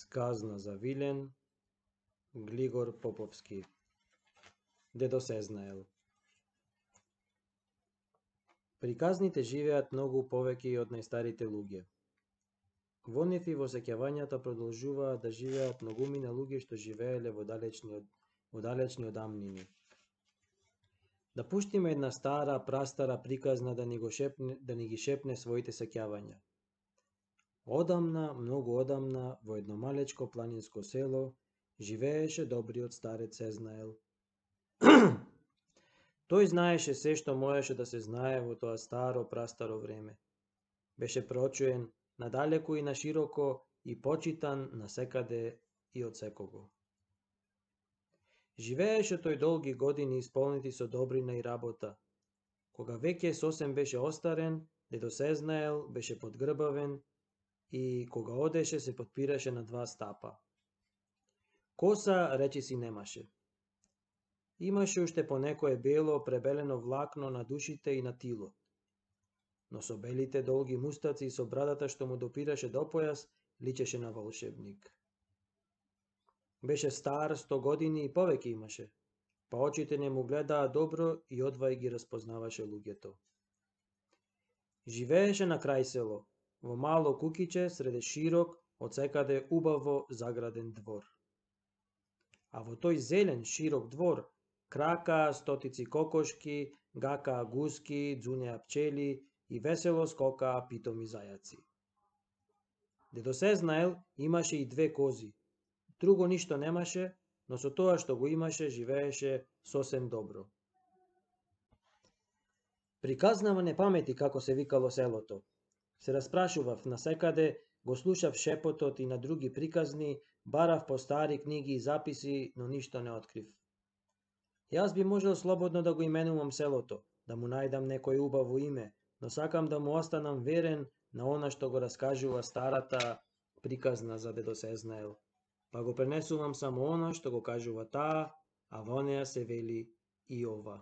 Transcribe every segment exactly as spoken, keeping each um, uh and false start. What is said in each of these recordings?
Сказна за Вилен, Глигор Поповски. Дедо Сезнаел. Приказните живеат многу повеќе од најстарите луѓе. Во нив и во сеќавањата продолжуваат да живеат многумина луѓе што живееле во далечни од, во далечни одамнини. Да пуштиме една стара, прастара приказна да ни го шепне, да ни ги шепне своите сеќавања. Одамна, многу одамна, во едно малечко планинско село, живееше добриот старец Сезнаел. Тој знаеше се што можеше да се знае во тоа старо, прастаро време. Беше прочуен надалеку и на широко и почитан насекаде и од секого. Живееше тој долги години исполнети со добрина и работа. Кога веќе сосем беше остарен, дедо Сезнаел беше подгрбавен и кога одеше се подпираше на два стапа. Коса речиси немаше. Имаше уште по некое бело, пребелено влакно на душите и на тилот. Но со белите долги мустаци и со брадата што му допираше до појас, личеше на волшебник. Беше стар сто години и повеќе имаше, па очите не му гледаа добро и одвај ги распознаваше луѓето. Живееше на крај село, во мало кукиче среде широк, од секаде убаво заграден двор. А во тој зелен, широк двор кракаа стотици кокошки, гакаа гуски, дзунеа пчели и весело скокаа питоми зајаци. Дедо Сезнаел имаше и две кози. Друго ништо немаше, но со тоа што го имаше живееше сосем добро. Приказнава не памети како се викало селото. Се распрашував насекаде, го слушав шепотот и на други приказни, барав по стари книги и записи, но ништо не открив. Јас би можел слободно да го именувам селото, да му најдам некој убаво име, но сакам да му останам верен на она што го раскажува старата приказна за дедо Сезнаел, па го пренесувам само она што го кажува таа, а во неа се вели и ова.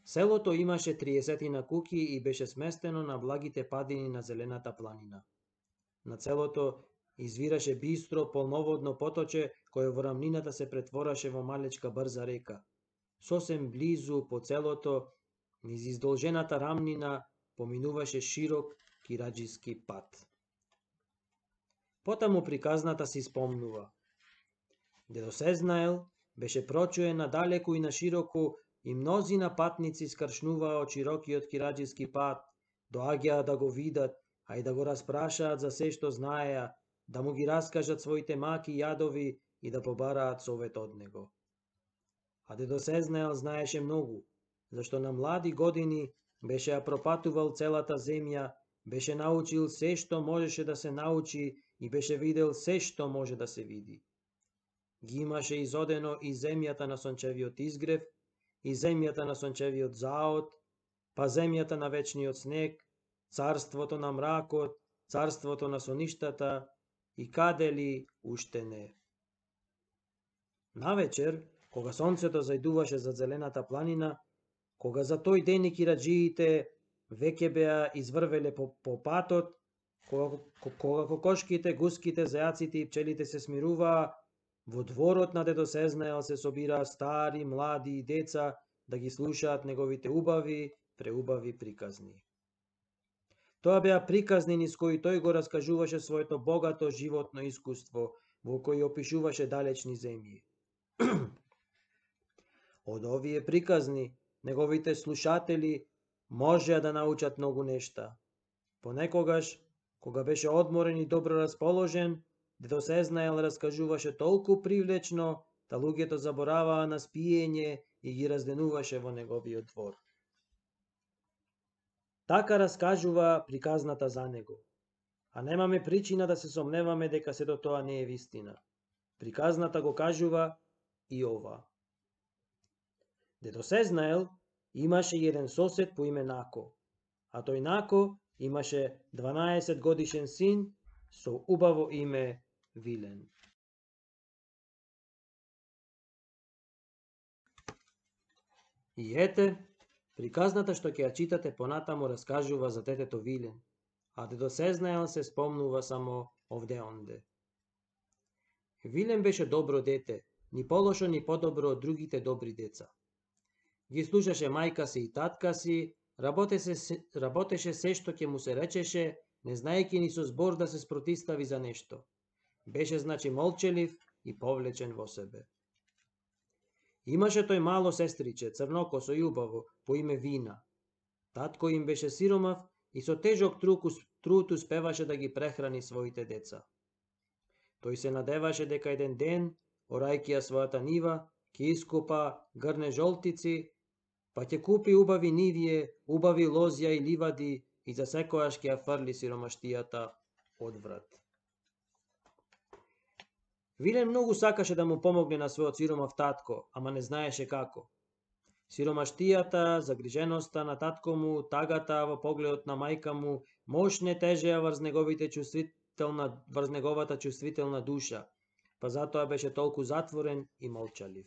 Селото имаше триесетина куќи и беше сместено на благите падини на зелената планина. На целото извираше бистро, полноводно поточе, кое во рамнината се претвораше во малечка брза река. Сосем близу по целото, низ издолжената рамнина, поминуваше широк кираџиски пат. Потаму приказната си спомнува. Дедо Сезнаел беше прочуен надалеку и на широку и мнозина патници скршнуваа од широкиот кираџиски пат, доаѓаа да го видат, а и да го распрашаат за се што знаеа, да му ги раскажат своите маки и јадови и да побараат совет од него. А дедо Сезнаел знаеше многу, зашто на млади години беше ја пропатувал целата земја, беше научил се што можеше да се научи и беше видел се што може да се види. Ги имаше изодено и земјата на сончевиот изгрев, и земјата на сончевиот заод, па земјата на вечниот снег, царството на мракот, царството на соништата и каде ли уште не. Навечер, кога сонцето зајдуваше за зелената планина, кога за тој ден и кираџиите веќе беа изврвеле по, по патот, кога, кога кокошките, гуските, зајаците и пчелите се смируваа, во дворот на дедо Сезнаел се собираа стари, млади и деца да ги слушаат неговите убави, преубави приказни. Тоа беа приказни низ кои тој го раскажуваше своето богато животно искуство, во кои опишуваше далечни земји. Од овие приказни, неговите слушатели можеа да научат многу нешта. Понекогаш, кога беше одморен и добро расположен, дедо Сезнаел раскажуваше толку привлечно, да луѓето забораваа на спиење и ги разденуваше во неговиот двор. Така раскажува приказната за него, а немаме причина да се сомневаме дека сето тоа не е вистина. Приказната го кажува и ова. Дедо Сезнаел имаше еден сосед по име Нако, а тој Нако имаше дванаесет годишен син со убаво име Вилен. И ете, приказната што ќе ја читате понатаму раскажува за детето Вилен, а дедо Сезнаел се спомнува само овде онде. Вилем беше добро дете, ни полошо ни подобро од другите добри деца. Ги слушаше мајка си и татка си, работеше, работеше се што ќе му се речеше, не знаејќи ни со збор да се спротистави за нешто. Беше значи молчелив и повлечен во себе. Имаше тој мало сестриче, црнокосо и убаво, по име Вина. Татко им беше сиромав и со тежок труд успеваше да ги прехрани своите деца. Тој се надеваше дека еден ден, орајќи ја својата нива, ќе искупа грне жолтици, па ќе купи убави нивие, убави лозја и ливади и за секојаш ќе ја фрли сиромаштијата од врат. Вилен многу сакаше да му помогне на својот сиромав татко, ама не знаеше како. Сиромаштијата, загриженоста на татко му, тагата во погледот на мајка му, мощне тежеа врз неговите чувствителна, врз неговата чувствителна душа, па затоа беше толку затворен и молчалив.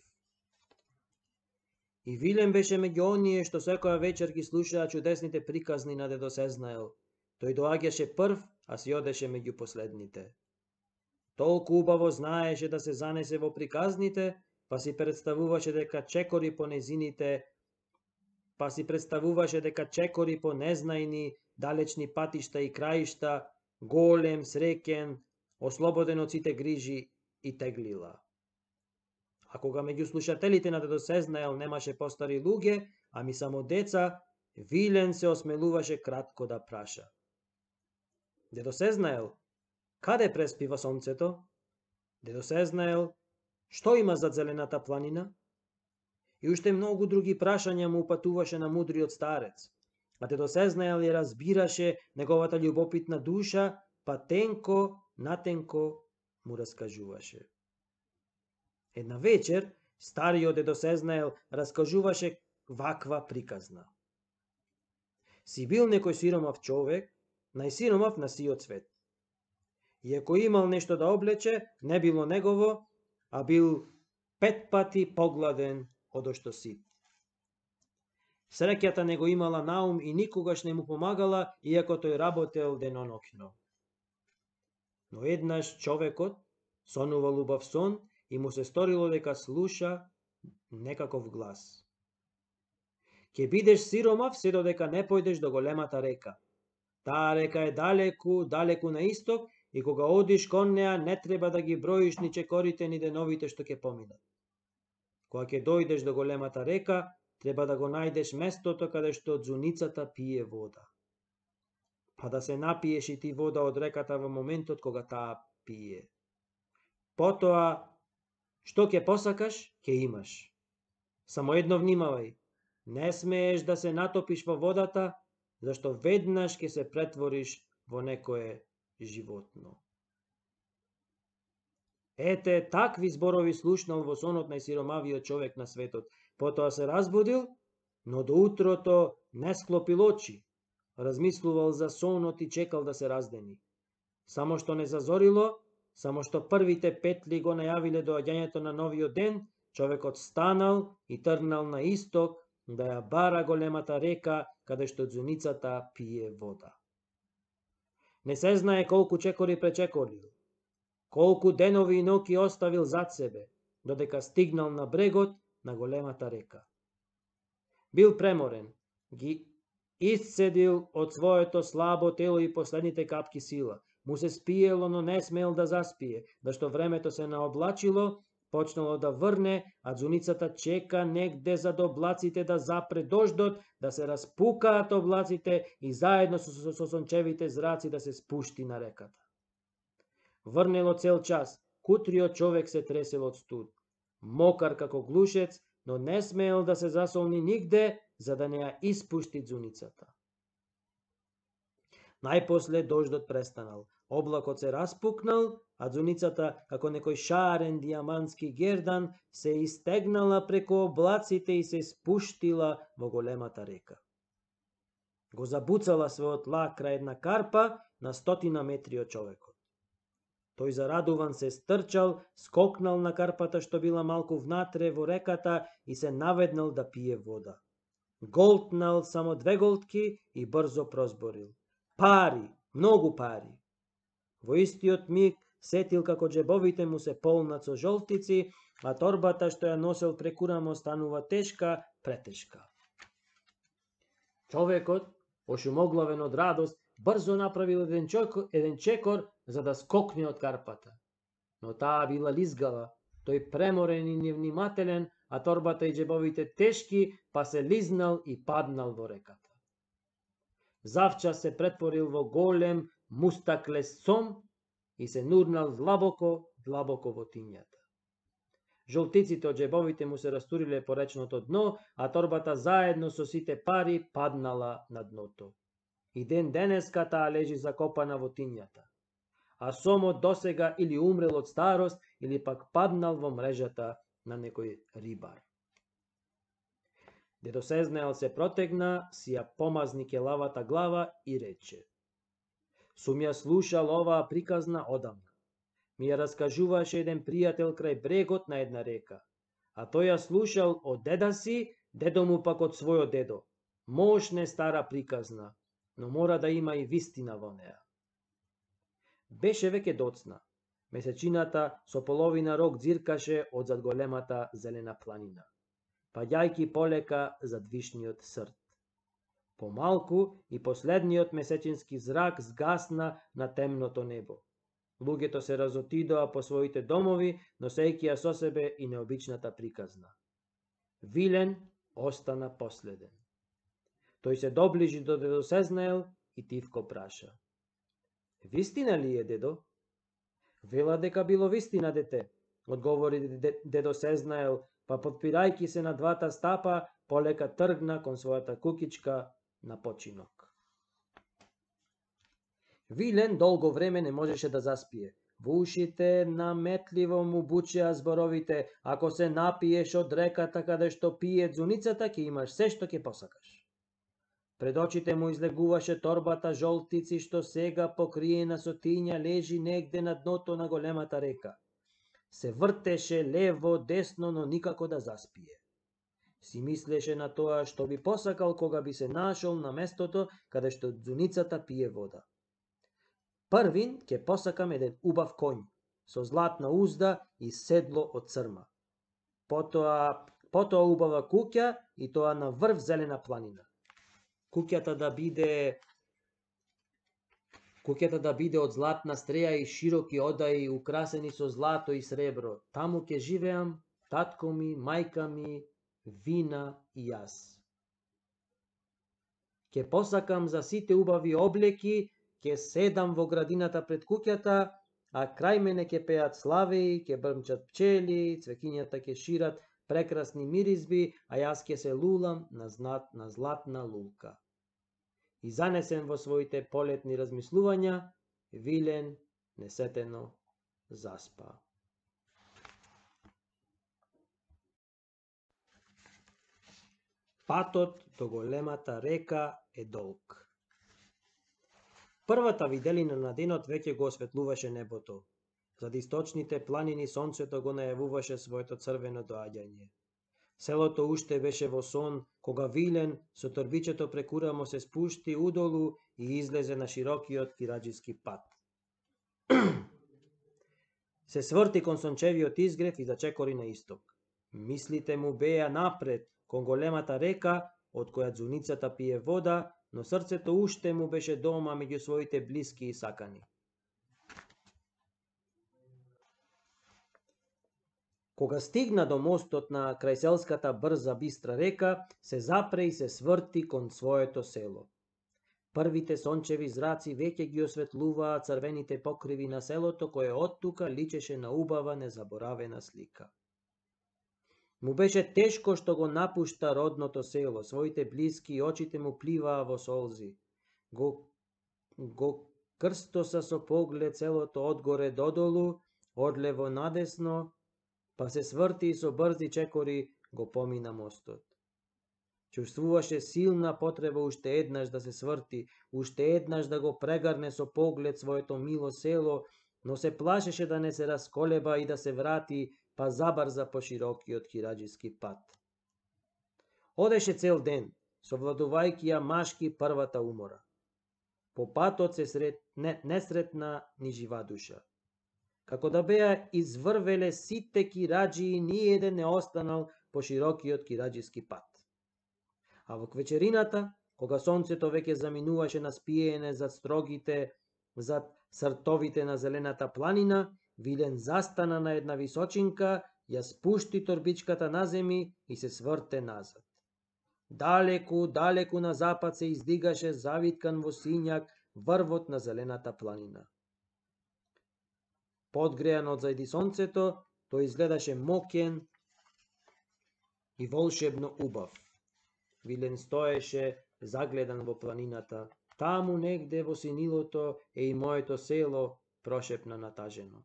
И Вилем беше меѓу оние што секоја вечер ги слушаа чудесните приказни на дедо Сезнаел. Тој доаѓаше прв, а си одеше меѓу последните. Толку убаво знаеше да се занесе во приказните, па си представуваше дека чекори по незините, па си представуваше дека чекори по незнајни, далечни патишта и краишта, голем, среќен, ослободен од сите грижи и теглила. А кога меѓу слушателите на дедо Сезнаел немаше постари луѓе, ами само деца, Вилен се осмелуваше кратко да праша. Дедо Сезнаел, каде преспива сонцето? Дедо Сезнаел, што има зад зелената планина? И уште многу други прашања му упатуваше на мудриот старец. А дедо Сезнаел ја разбираше неговата љубопитна душа, па тенко, натенко му раскажуваше. Една вечер, стариот дедо Сезнаел раскажуваше ваква приказна. Си бил некој сиромав човек, најсиромав на сиот свет. И ако имал нешто да облече, не било негово, а бил пет пати погладен од што сит. Среќата не го имала наум и никогаш не му помагала, иако тој работел деноноќно. Но еднаш човекот сонувал убав сон и му се сторило дека слуша некаков глас. Ке бидеш сиромав се додека не појдеш до големата река. Таа река е далеку, далеку на исток и кога одиш кон неа не треба да ги броиш ни чекорите ни деновите што ќе поминат. Кога ќе дојдеш до големата река, треба да го најдеш местото каде што ѕуницата пие вода. Па да се напиеш и ти вода од реката во моментот кога таа пие. Потоа, што ќе посакаш, ќе имаш. Само едно внимавај, не смееш да се натопиш во водата, зашто веднаш ќе се претвориш во некое животно. Ете, такви зборови слушнал во сонот најсиромавиот човек на светот. Потоа се разбудил, но до утрото не склопил очи. Размислувал за сонот и чекал да се раздени. Само што не зазорило, само што првите петли го најавиле доаѓањето на новиот ден, човекот станал и тргнал на исток да ја бара големата река каде што ѕуницата пие вода. Не се знае колку чекори пречекорил, колку денови и ноќи оставил зад себе, додека стигнал на брегот на големата река. Бил преморен, ги исцедил од своето слабо тело и последните капки сила. Му се спиело, но не смел да заспие, зашто времето се наоблачило, почнало да врне, а ѕуницата чека негде зад облаците да запре дождот, да се распукаат облаците и заедно со, со, со сончевите зраци да се спушти на реката. Врнело цел час, кутриот човек се тресел од студ. Мокар како глушец, но не смел да се засолни нигде, за да не ја испушти ѕуницата. Најпосле дождот престанал, облакот се распукнал, а ѕуницата, како некој шарен диамантски гердан, се истегнала преку облаците и се спуштила во големата река. Го забуцала својот лак крај една карпа на стотина метри од човекот. Тој зарадуван се стрчал, скокнал на карпата што била малку внатре во реката и се наведнал да пие вода. Голтнал само две голтки и брзо прозборил. Пари, многу пари. Во истиот миг сетил како џебовите му се полнат со жолтици, а торбата што ја носел преку рамо станува тешка, претешка. Човекот, ошумоглавен од радост, брзо направил еден чекор, еден чекор за да скокне од карпата. Но таа била лизгава, тој преморен и невнимателен, а торбата и џебовите тешки, па се лизнал и паднал во реката. Завчас се претворил во голем мустаклес сом и се нурнал длабоко, длабоко во тињата. Жолтиците од џебовите му се растуриле по речното дно, а торбата заедно со сите пари паднала на дното. И ден денеска таа лежи закопана во тињата. А сомот досега или умрел од старост, или пак паднал во мрежата на некој рибар. Дедо Сезнаел се протегна, си ја помазни келавата глава и рече: Сум ја слушал оваа приказна одамна. Ми ја раскажуваше еден пријател крај брегот на една река, а тој ја слушал од деда си, дедо му пак од својот дедо. Мошне стара приказна, но мора да има и вистина во неа. Беше веќе доцна. Месечината со половина рок дзиркаше од зад големата зелена планина, паѓајки полека зад вишниот срт. Помалку и последниот месечински зрак згасна на темното небо. Луѓето се разотидоа по своите домови, носејќи ја со себе и необичната приказна. Вилен остана последен. Тој се доближи до дедо Сезнаел и тивко праша: Вистина ли е, дедо? Вела дека било вистина, дете, одговори дедо Сезнаел, па подпирајќи се на двата стапа, полека тргна кон својата кукичка на починок. Вилен долго време не можеше да заспие. Во ушите наметливо му бучеа зборовите: ако се напиеш од реката каде што пие ѕуницата, ќе имаш се што ќе посакаш. Пред очите му излегуваше торбата жолтици што сега покриена со тиња лежи негде на дното на големата река. Се вртеше лево, десно, но никако да заспие. Си мислеше на тоа што би посакал кога би се нашол на местото каде што дзуницата пие вода. Првин ќе посакам еден убав конј, со златна узда и седло од црма. Потоа, потоа убава куќа и тоа на врв зелена планина. Куќата да биде Куќата да биде од златна стреја и широки одаи украсени со злато и сребро. Таму ќе живеам, татко ми, мајка ми, вина и јас. Ќе посакам за сите убави облеки, ќе седам во градината пред куќата, а крај мене ќе пеат славеи, ќе брмчат пчели, цвекињата ќе шират прекрасни миризби, а јас ќе се лулам на, знат, на златна лулка. И занесен во своите полетни размислувања, Вилен несетено заспа. Патот до големата река е долг. Првата виделина на денот веќе го осветлуваше небото. Зад источните планини сонцето го најавуваше своето црвено доаѓање. Селото уште беше во сон, кога Вилен со торбичето преку рамо се спушти удолу и излезе на широкиот кираџиски пат. Се сврти кон сончевиот изгрев и зачекори на исток. Мислите му беа напред, кон големата река, од која дзуницата пие вода, но срцето уште му беше дома меѓу своите блиски и сакани. Кога стигна до мостот на крајселската брза бистра река, се запре и се сврти кон своето село. Првите сончеви зраци веќе ги осветлуваа црвените покриви на селото, кое оттука личеше на убава незаборавена слика. Му беше тешко што го напушта родното село, своите блиски и очите му пливаа во солзи. Го, го крстоса со поглед селото одгоре додолу, одлево надесно, па се сврти и со брзи чекори го помина мостот. Чувствуваше силна потреба уште еднаш да се сврти, уште еднаш да го прегарне со поглед своето мило село, но се плашеше да не се расколеба и да се врати, па забрза по широкиот кираџиски пат. Одеше цел ден, совладувајќи ја машки првата умора. По патот се сред... не, не сретна ни жива душа. Како да беа изврвеле сите кираџии, ни еден не останал по широкиот кираџиски пат. А во вечерината, кога сонцето веќе заминуваше на спиење зад строгите, зад сртовите на зелената планина, Вилен застана на една височинка, ја спушти торбичката на земи и се сврте назад. Далеку, далеку на запад се издигаше завиткан во сињак врвот на зелената планина. Подгреан од зајди сонцето, тој изгледаше мокен и волшебно убав. Вилен стоеше загледан во планината. Таму негде во синилото е и моето село, прошепна натажено.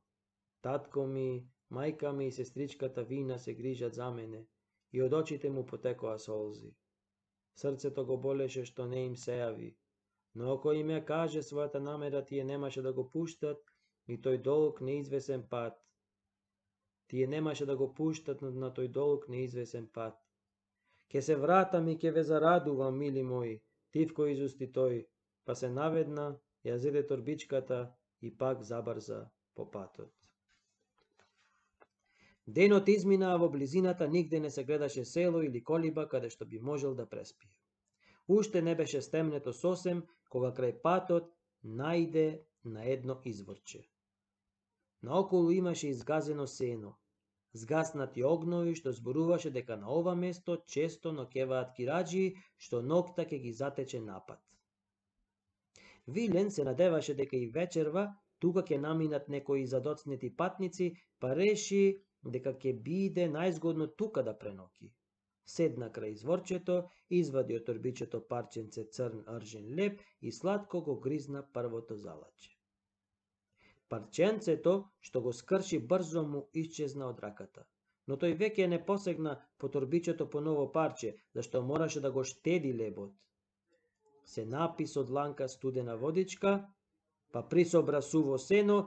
Татко ми, мајка ми и сестричката Вина се грижат за мене и од очите му потекоа солзи. Срцето го болеше што не им се јави, но ако им ја каже својата намера, тие немаше да го пуштат и тој долг неизвесен пат. Тие немаше да го пуштат на тој долг неизвесен пат. Ке се вратам и ке ве зарадувам, мили мои, тивко изусти тој, па се наведна, ја зеде торбичката и пак забрза по патот. Денот измина, а во близината нигде не се гледаше село или колиба каде што би можел да преспие. Уште не беше стемнето сосем, кога крај патот најде на едно изворче. Наоколу имаше изгазено сено, згаснати огнови што зборуваше дека на ова место често ноќеваат кираџии што ноќта ќе ги затече напад. Вилен се надеваше дека и вечерва тука ќе наминат некои задоцнети патници, па реши дека ќе биде најзгодно тука да преноки. Седна крај изворчето, извади од торбичето парченце црн ржен леп и сладко го гризна првото залаче. Парченцето што го скрши брзо му исчезна од раката, но тој веќе не посегна по торбичето по ново парче, зашто мораше да го штеди лебот. Се напи со дланка студена водичка, па присобра суво сено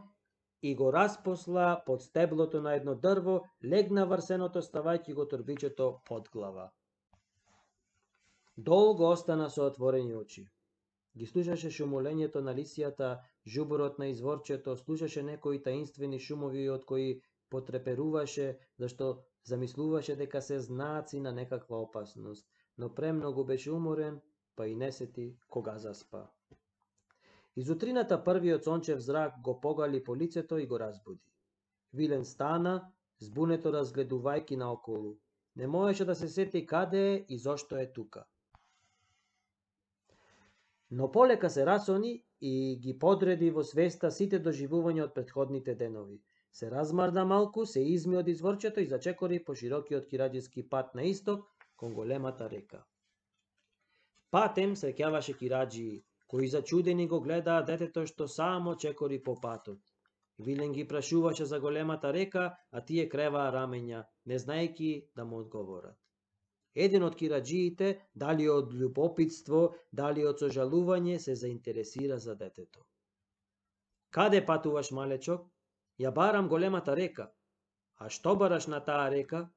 и го распосла под стеблото на едно дрво, легна врз сеното ставајќи го торбичето под глава. Долго остана со отворени очи. Ги слушаше шумолењето на лисијата, жуборот на изворчето, слушаше некои таинствени шумови од кои потреперуваше, зашто замислуваше дека се знаци на некаква опасност, но премногу беше уморен, па и не сети кога заспа. Изутрината првиот сончев зрак го погали по лицето и го разбуди. Вилен стана, збунето разгледувајќи наоколу. Не можеше да се сети каде е и зошто е тука. Но полека се расони и ги подреди во свеста сите доживувања од претходните денови. Се размарда малку, се изми од изворчето и зачекори по широкиот кираџиски пат на исток кон големата река. Патем среќаваше кираџии, кои зачудени го гледаа детето што само чекори по патот. Вилен ги прашуваше за големата река, а тие креваа рамења, не знаејќи да му одговорат. Еден од кираџиите, дали од љубопитство, дали од сожалување, се заинтересира за детето. Каде патуваш, малечок? Ја барам големата река. А што бараш на таа река?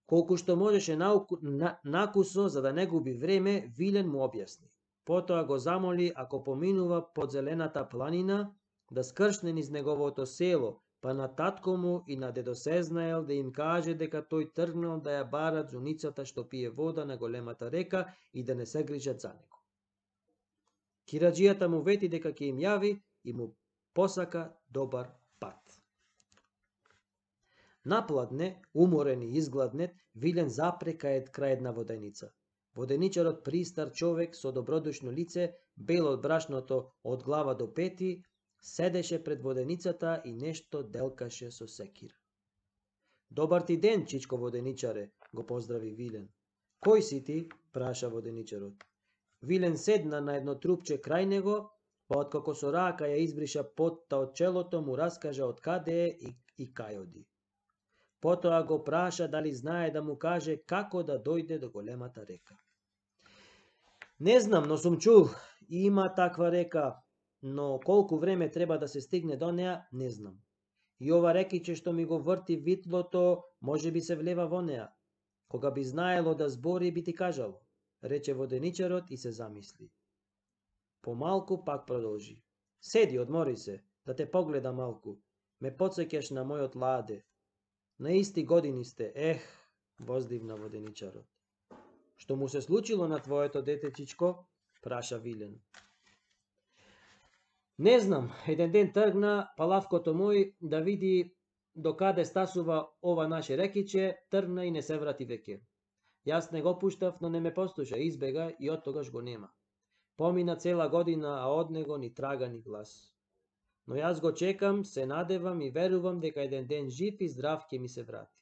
Колку што можеше науку, на, накусо, за да не губи време, Вилен му објасни. Потоа го замоли, ако поминува под зелената планина, да скршне низ неговото село, па на татко му и на дедо Сезнаел да им каже дека тој тргнал да ја барат зуницата што пие вода на големата река и да не се грижат за него. Кираџијата му вети дека ќе им јави и му посака добар пат. Напладне, уморен и изгладнет, Вилен запре кај крај една воденица. Воденичарот, пристар човек со добродушно лице, бел од брашното од глава до пети, седеше пред воденицата и нешто делкаше со секира. Добар ти ден, чичко воденичаре, го поздрави Вилен. Кој си ти? Праша воденичарот. Вилен седна на едно трупче крај него, па откако со рака ја избриша потта од челото, му раскажа од каде е и, и кај оди. Потоа го праша дали знае да му каже како да дојде до големата река. Не знам, но сум чул, има таква река, но колку време треба да се стигне до неа, не знам. И ова рекиче што ми го врти витлото, може би се влева во неа. Кога би знаело да збори, би ти кажало, рече воденичарот и се замисли. Помалку пак продолжи. Седи, одмори се, да те погледа малку. Ме потсеќаш на мојот ладе. На исти години сте, ех, воздивна воденичарот. Што му се случило на твоето детечичко? Праша Вилен. Не знам, еден ден тргна палавкото мој да види до каде стасува ова наше рекиче, тргна и не се врати веќе. Јас не го пуштав, но не ме послуша, избега и од тогаш го нема. Помина цела година, а од него ни трага ни глас. Но јас го чекам, се надевам и верувам дека еден ден жив и здрав ќе ми се врати.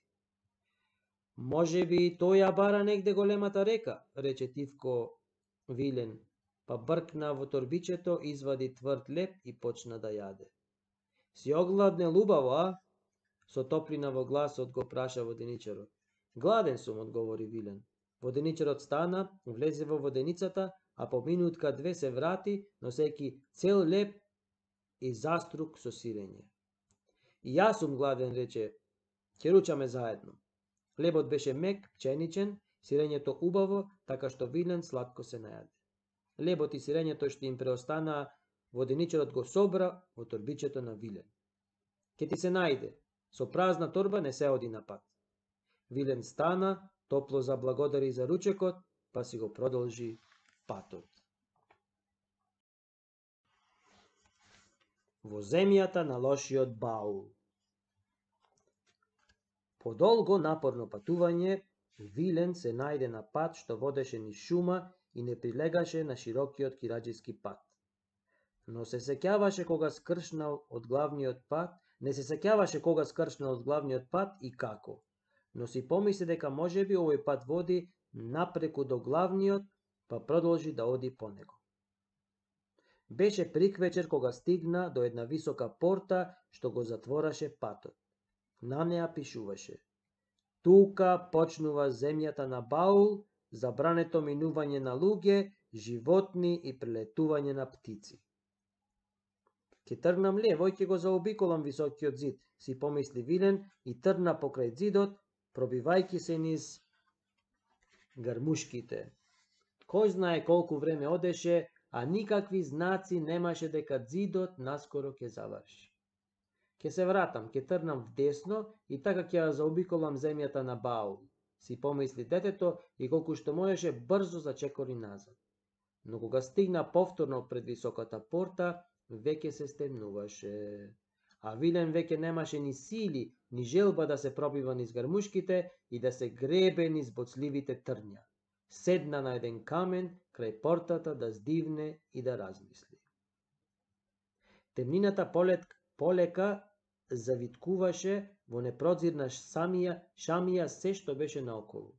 Може би тој ја бара негде големата река, рече тивко Вилен, па бркна во торбичето, извади тврд леп и почна да јаде. Си огладнел убаво, а? Со топлина во гласот го праша воденичарот. Гладен сум, одговори Вилен. Воденичарот стана, влезе во воденицата, а по минутка две се врати, носејќи цел леп и заструк со сирење. И јас сум гладен, рече, ќе ручаме заедно. Лебот беше мек, пченичен, сирењето убаво, така што Вилен сладко се најаде. Лебот и сирењето што им преостана, воденичарот го собра во торбичето на Вилен. Ке ти се најде, со празна торба не се оди на пат. Вилен стана, топло заблагодари за ручекот, па си го продолжи патот. Во земјата на лошиот баул. По долго напорно патување, Вилен се најде на пат што водеше низ шума и не прилегаше на широкиот кираџиски пат. Но се сеќаваше кога скршнал од главниот пат, не се сеќаваше кога скршнал од главниот пат и како. Но си помисли дека можеби овој пат води напреку до главниот, па продолжи да оди по него. Беше приквечер кога стигна до една висока порта што го затвораше патот. На неа пишуваше: тука почнува земјата на Баул, забрането минување на луѓе, животни и прелетување на птици. Ке тргнам лево и ке го заобиколам високиот зид, си помисли Вилен и тргна покрај зидот, пробивајќи се низ грмушките. Кој знае колку време одеше, а никакви знаци немаше дека зидот наскоро ќе заврши. Ке се вратам, ке тргнам вдесно и така ќе ја заобиколам земјата на Баул, си помисли детето и колку што можеше брзо зачекори назад. Но кога стигна повторно пред високата порта, веќе се стемнуваше. А Вилен веќе немаше ни сили, ни желба да се пробива низ грмушките и да се гребе низ боцливите трња. Седна на еден камен крај портата да здивне и да размисли. Темнината полет, полека завиткуваше во непрозирна самија, шамија се што беше наоколу.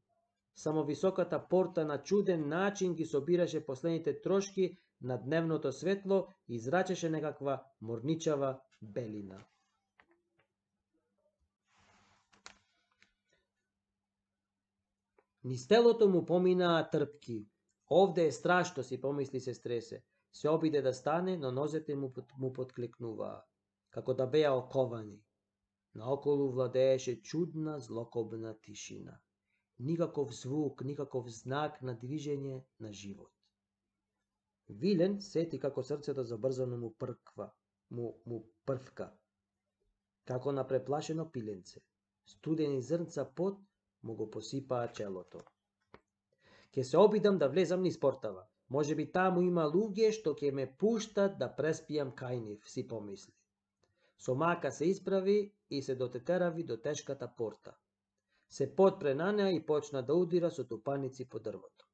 Само високата порта на чуден начин ги собираше последните трошки на дневното светло и израчеше некаква морничава белина. Низ телото му поминаа трпки. Овде е страшно, си помисли, се стресе. Се обиде да стане, но нозете му, му подклекнуваа, како да беа оковани. Наоколу владееше чудна, злокобна тишина. Никаков звук, никаков знак на движење на живот. Вилен сети како срцето забрзано му прква, му, му првка, како на преплашено пиленце. Студени зрнца пот му го посипаа челото. Ке се обидам да влезам низ портава. Може би таму има луѓе што ќе ме пуштат да преспијам кај нив, си помисли. Со мака се исправи и се дотетерави до тешката порта. Се потпре на неа и почна да удира со тупаници по дрвото.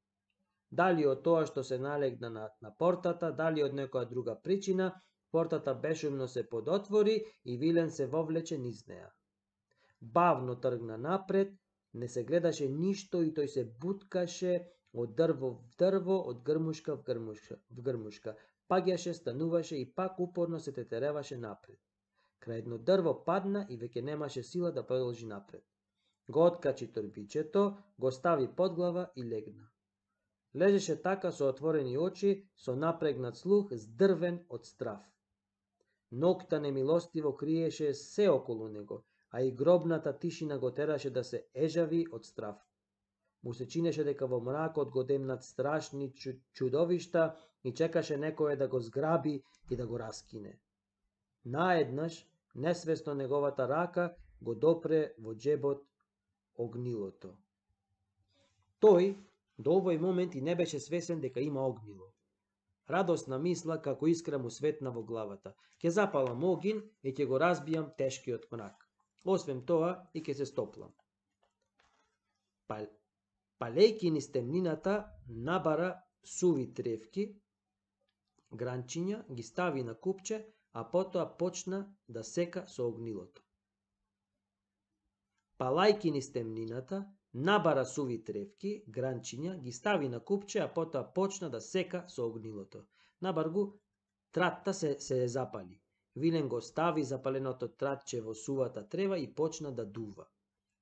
Дали од тоа што се налегна на, на портата, дали од некоја друга причина, портата бешумно се подотвори и Вилен се вовлече низ неа. Бавно тргна напред, не се гледаше ништо и тој се буткаше од дрво в дрво, од грмушка в грмушка, в грмушка. Паѓаше, стануваше и пак упорно се тетереваше напред. Крај едно дрво падна и веќе немаше сила да продолжи напред. Го откачи торбичето, го стави под глава и легна. Лежеше така со отворени очи, со напрегнат слух, здрвен од страв. Ноќта немилостиво криеше се околу него, а и гробната тишина го тераше да се ежави од страв. Му се чинеше дека во мракот го демнат страшни чудовишта и чекаше некој да го зграби и да го раскине. Наеднаш, несвесно неговата рака го допре во џебот огнилото. Тој до овој момент и не беше свесен дека има огнило. Радосна мисла како искра му светна во главата. Ќе запалам огин и ќе го разбијам тешкиот мрак. Освен тоа и ќе се стоплам. Пал... Палејки низ темнината, набара суви тревки, гранчиња, ги стави на купче, а потоа почна да сека со огнилото. Палајки низ темнината, набара суви тревки, гранчиња, ги стави на купче, а потоа почна да сека со огнилото. Набаргу, тратта се, се запали. Вилен го стави запаленото тратче во сувата трева и почна да дува.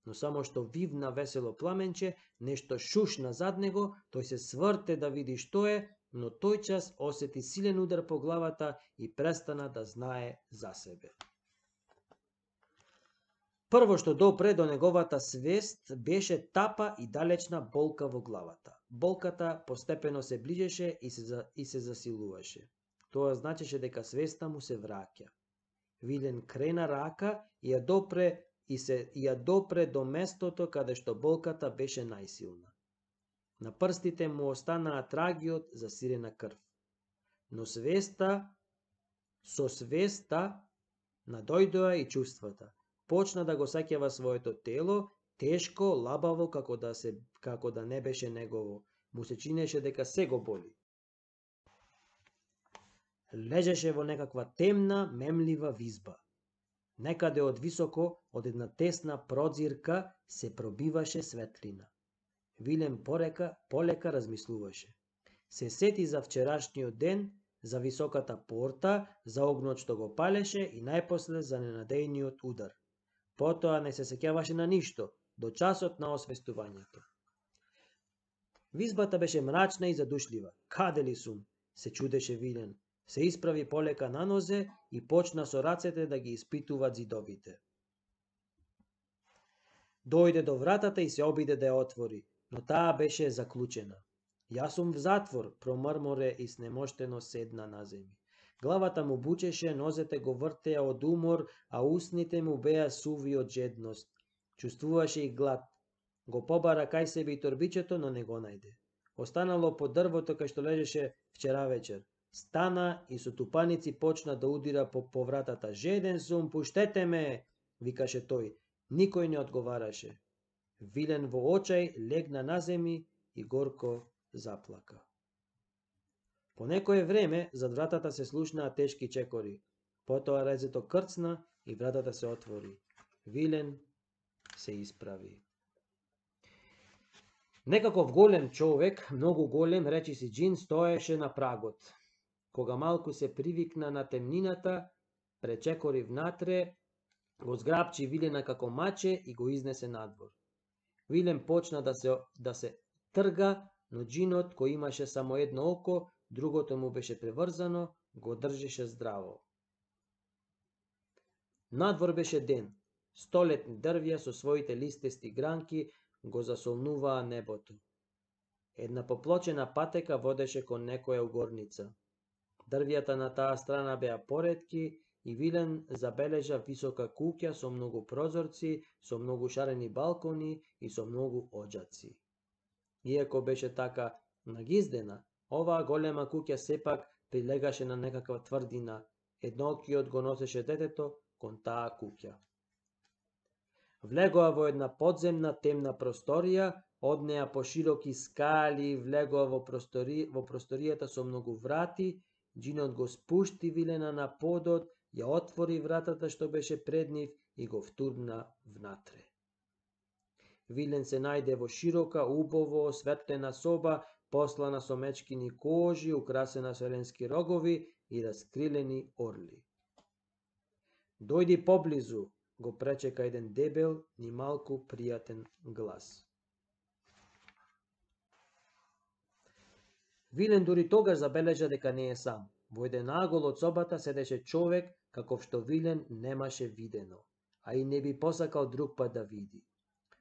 Но само што вивна весело пламенче, нешто шушна зад него, тој се сврте да види што е, но тој час осети силен удар по главата и престана да знае за себе. Прво што допре до неговата свест беше тапа и далечна болка во главата. Болката постепено се ближеше и се, и се засилуваше. Тоа значеше дека свеста му се враќа. Вилен крена рака и ја допре и се и ја допре до местото каде што болката беше најсилна. На прстите му останаа трагиот за сирена крв. Но свеста, со свеста надојдоа и чувствата. Почна да го сеќава своето тело, тешко, лабаво, како да се како да не беше негово. Му се чинеше дека се го боли. Лежеше во некаква темна, мемлива визба. Некаде од високо, од една тесна прозирка, се пробиваше светлина. Вилен порека, полека размислуваше. Се сети за вчерашниот ден, за високата порта, за огнот што го палеше и најпосле за ненадејниот удар. Потоа не се сеќаваше на ништо, до часот на освестувањето. Визбата беше мрачна и задушлива. Каде ли сум? Се чудеше Вилен. Се исправи полека на нозе и почна со рацете да ги испитува зидовите. Дојде до вратата и се обиде да ја отвори, но таа беше заклучена. Јас сум в затвор, промрморе и снемоштено седна на земји. Главата му бучеше, нозете го вртеа од умор, а устните му беа суви од жедност. Чувствуваше и глад. Го побара кај себе и торбичето, но не го најде. Останало под дрвото кај што лежеше вчера вечер. Стана и со тупаници почна да удира по повратата. Жеден сум, пуштете ме, викаше тој. Никој не одговараше. Вилен во очај легна на земји и горко заплака. По некое време зад вратата се слушнаа тешки чекори. Потоа резето крцна и вратата се отвори. Вилен се исправи. Некаков голем човек, многу голем, речи си Џин, стоеше на прагот. Кога малку се привикна на темнината, пречекори внатре, го зграпчи Вилена како маче и го изнесе надвор. Вилен почна да се, да се трга, но Џинот, кој имаше само едно око, другото му беше преврзано, го држеше здраво. Надвор беше ден. Столетни дрвја со своите листести гранки го засолнуваа небото. Една поплочена патека водеше кон некоја угорница. Дрвјата на таа страна беа поретки и Вилен забележа висока куќа со многу прозорци, со многу шарени балкони и со многу оџаци. Иако беше така нагиздена, оваа голема куќа сепак прилегаше на некаква тврдина. Едноокиот го носеше детето кон таа куќа. Влегоа во една подземна темна просторија, од неа по широки скали влегоа во, простори, во просторијата со многу врати. Џинот го спушти Вилена на подот, ја отвори вратата што беше пред нив и го втурна внатре. Вилен се најде во широка, убаво осветлена соба, послана со мечкини кожи, украсена со еленски рогови и раскрилени орли. Дојди поблизу, го пречека еден дебел, ни малку пријатен глас. Вилен дури тогаш забележа дека не е сам. Во еден агол од собата седеше човек каков што Вилен немаше видено, а и не би посакал друг пат да види.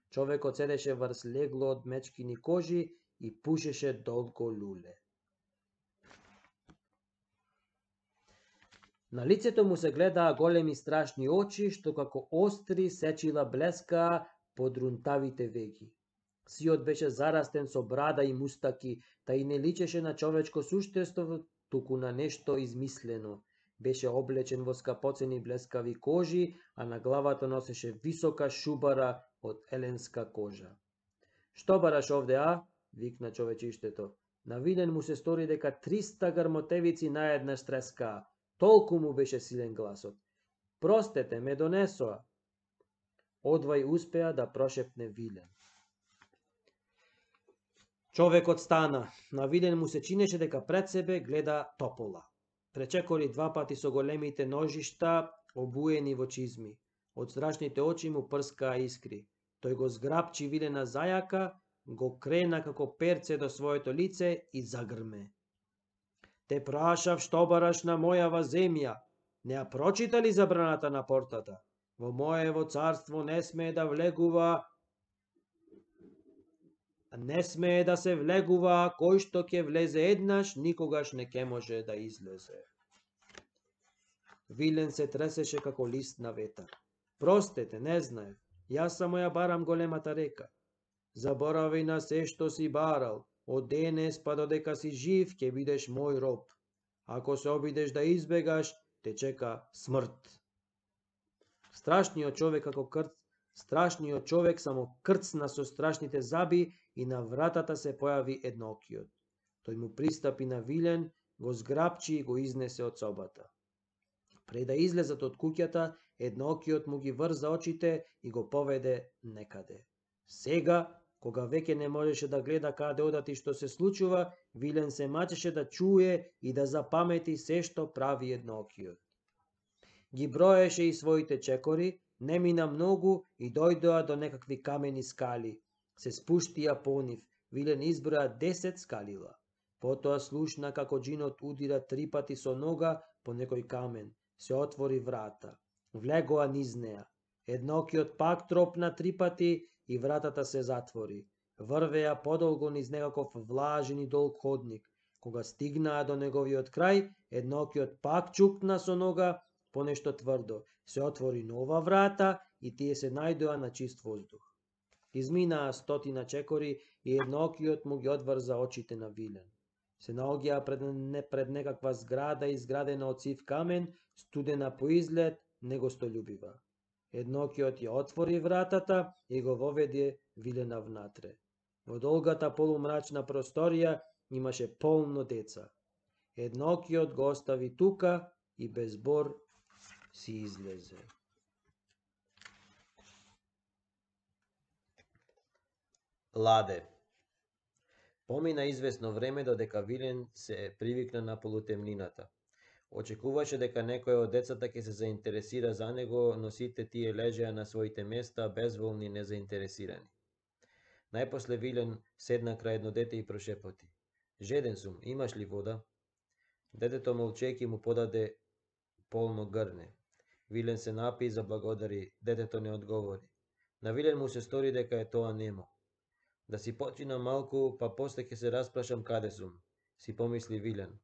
Човекот седеше врз легло од мечкини кожи и пушеше долго луле. На лицето му се гледаа големи страшни очи, што како остри сечила блескаа под рунтавите веки. Сиот беше зарастен со брада и мустаки, та и не личеше на човечко суштество, туку на нешто измислено. Беше облечен во скапоцени блескави кожи, а на главата носеше висока шубара од еленска кожа. Што бараш овде, а? Викна човечиштето. На Вилен му се стори дека триста грмотевици наеднаш трескаа. Толку му беше силен гласот. Простете, ме донесоа. Одвај успеа да прошепне Вилен. Човекот стана. На Вилен му се чинеше дека пред себе гледа топола. Пречекори два пати со големите ножишта, обуени во чизми. Од страшните очи му прскаа искри. Тој го зграпчи Вилена зајака, го крена како перце до своето лице и загрме. Те прашав што бараш на мојава земја. Не ја прочита ли забраната на портата? Во моево царство не смее да влегува Не смее да се влегува, кој што ќе влезе еднаш, никогаш не ќе може да излезе. Вилен се тресеше како лист на ветар. Простете, не знаев. Јас само ја барам големата река. Заборави на се што си барал. Од денес па додека си жив, ќе бидеш мој роб. Ако се обидеш да избегаш, те чека смрт. Страшниот човек како крт, страшниот човек само крцна со страшните заби и на вратата се појави едноокиот. Тој му пристапи на Вилен, го зграпчи и го изнесе од собата. Пред да излезат од куќата, едноокиот му ги врза очите и го поведе некаде. Сега, кога веќе не можеше да гледа каде одат и што се случува, Вилен се мачеше да чуе и да запамети се што прави едноокиот. Ги броеше и своите чекори, не мина многу и дојдоа до некакви камени скали. Се спуштија по нив, Вилен изброја десет скалила. Потоа слушна како џинот удира три пати со нога по некој камен. Се отвори врата. Влегоа низ неа. Едноокиот пак тропна три пати и вратата се затвори. Врвеа подолго низ некаков влажен и долг ходник. Кога стигнаа до неговиот крај, едноокиот пак чукна со нога по нешто тврдо. Се отвори нова врата и тие се најдоа на чист воздух. Изминаа стотина чекори и едноокиот му ги одврза очите на Вилен. Се наоѓаа пред, не, пред некаква зграда изградена од сив камен, студена по изглед, негостолюбива. Едноокиот ја отвори вратата и го воведе Вилена внатре. Во долгата полумрачна просторија имаше полно деца. Едноокиот го остави тука и без збор си излезе. Ладе. Помина известно време додека Вилен се привикна на полутемнината. Очекуваше дека некој од децата ќе се заинтересира за него, но сите тие лежеа на своите места, безволни и незаинтересирани. Најпосле Вилен седна крај едно дете и прошепоти. Жеден сум, имаш ли вода? Детето молчејќи му подаде полно грне. Вилен се напи и заблагодари, детето не одговори. На Вилен му се стори дека е тоа немо. Да си починам малку, па после ќе се распрашам каде сум, си помисли Вилен.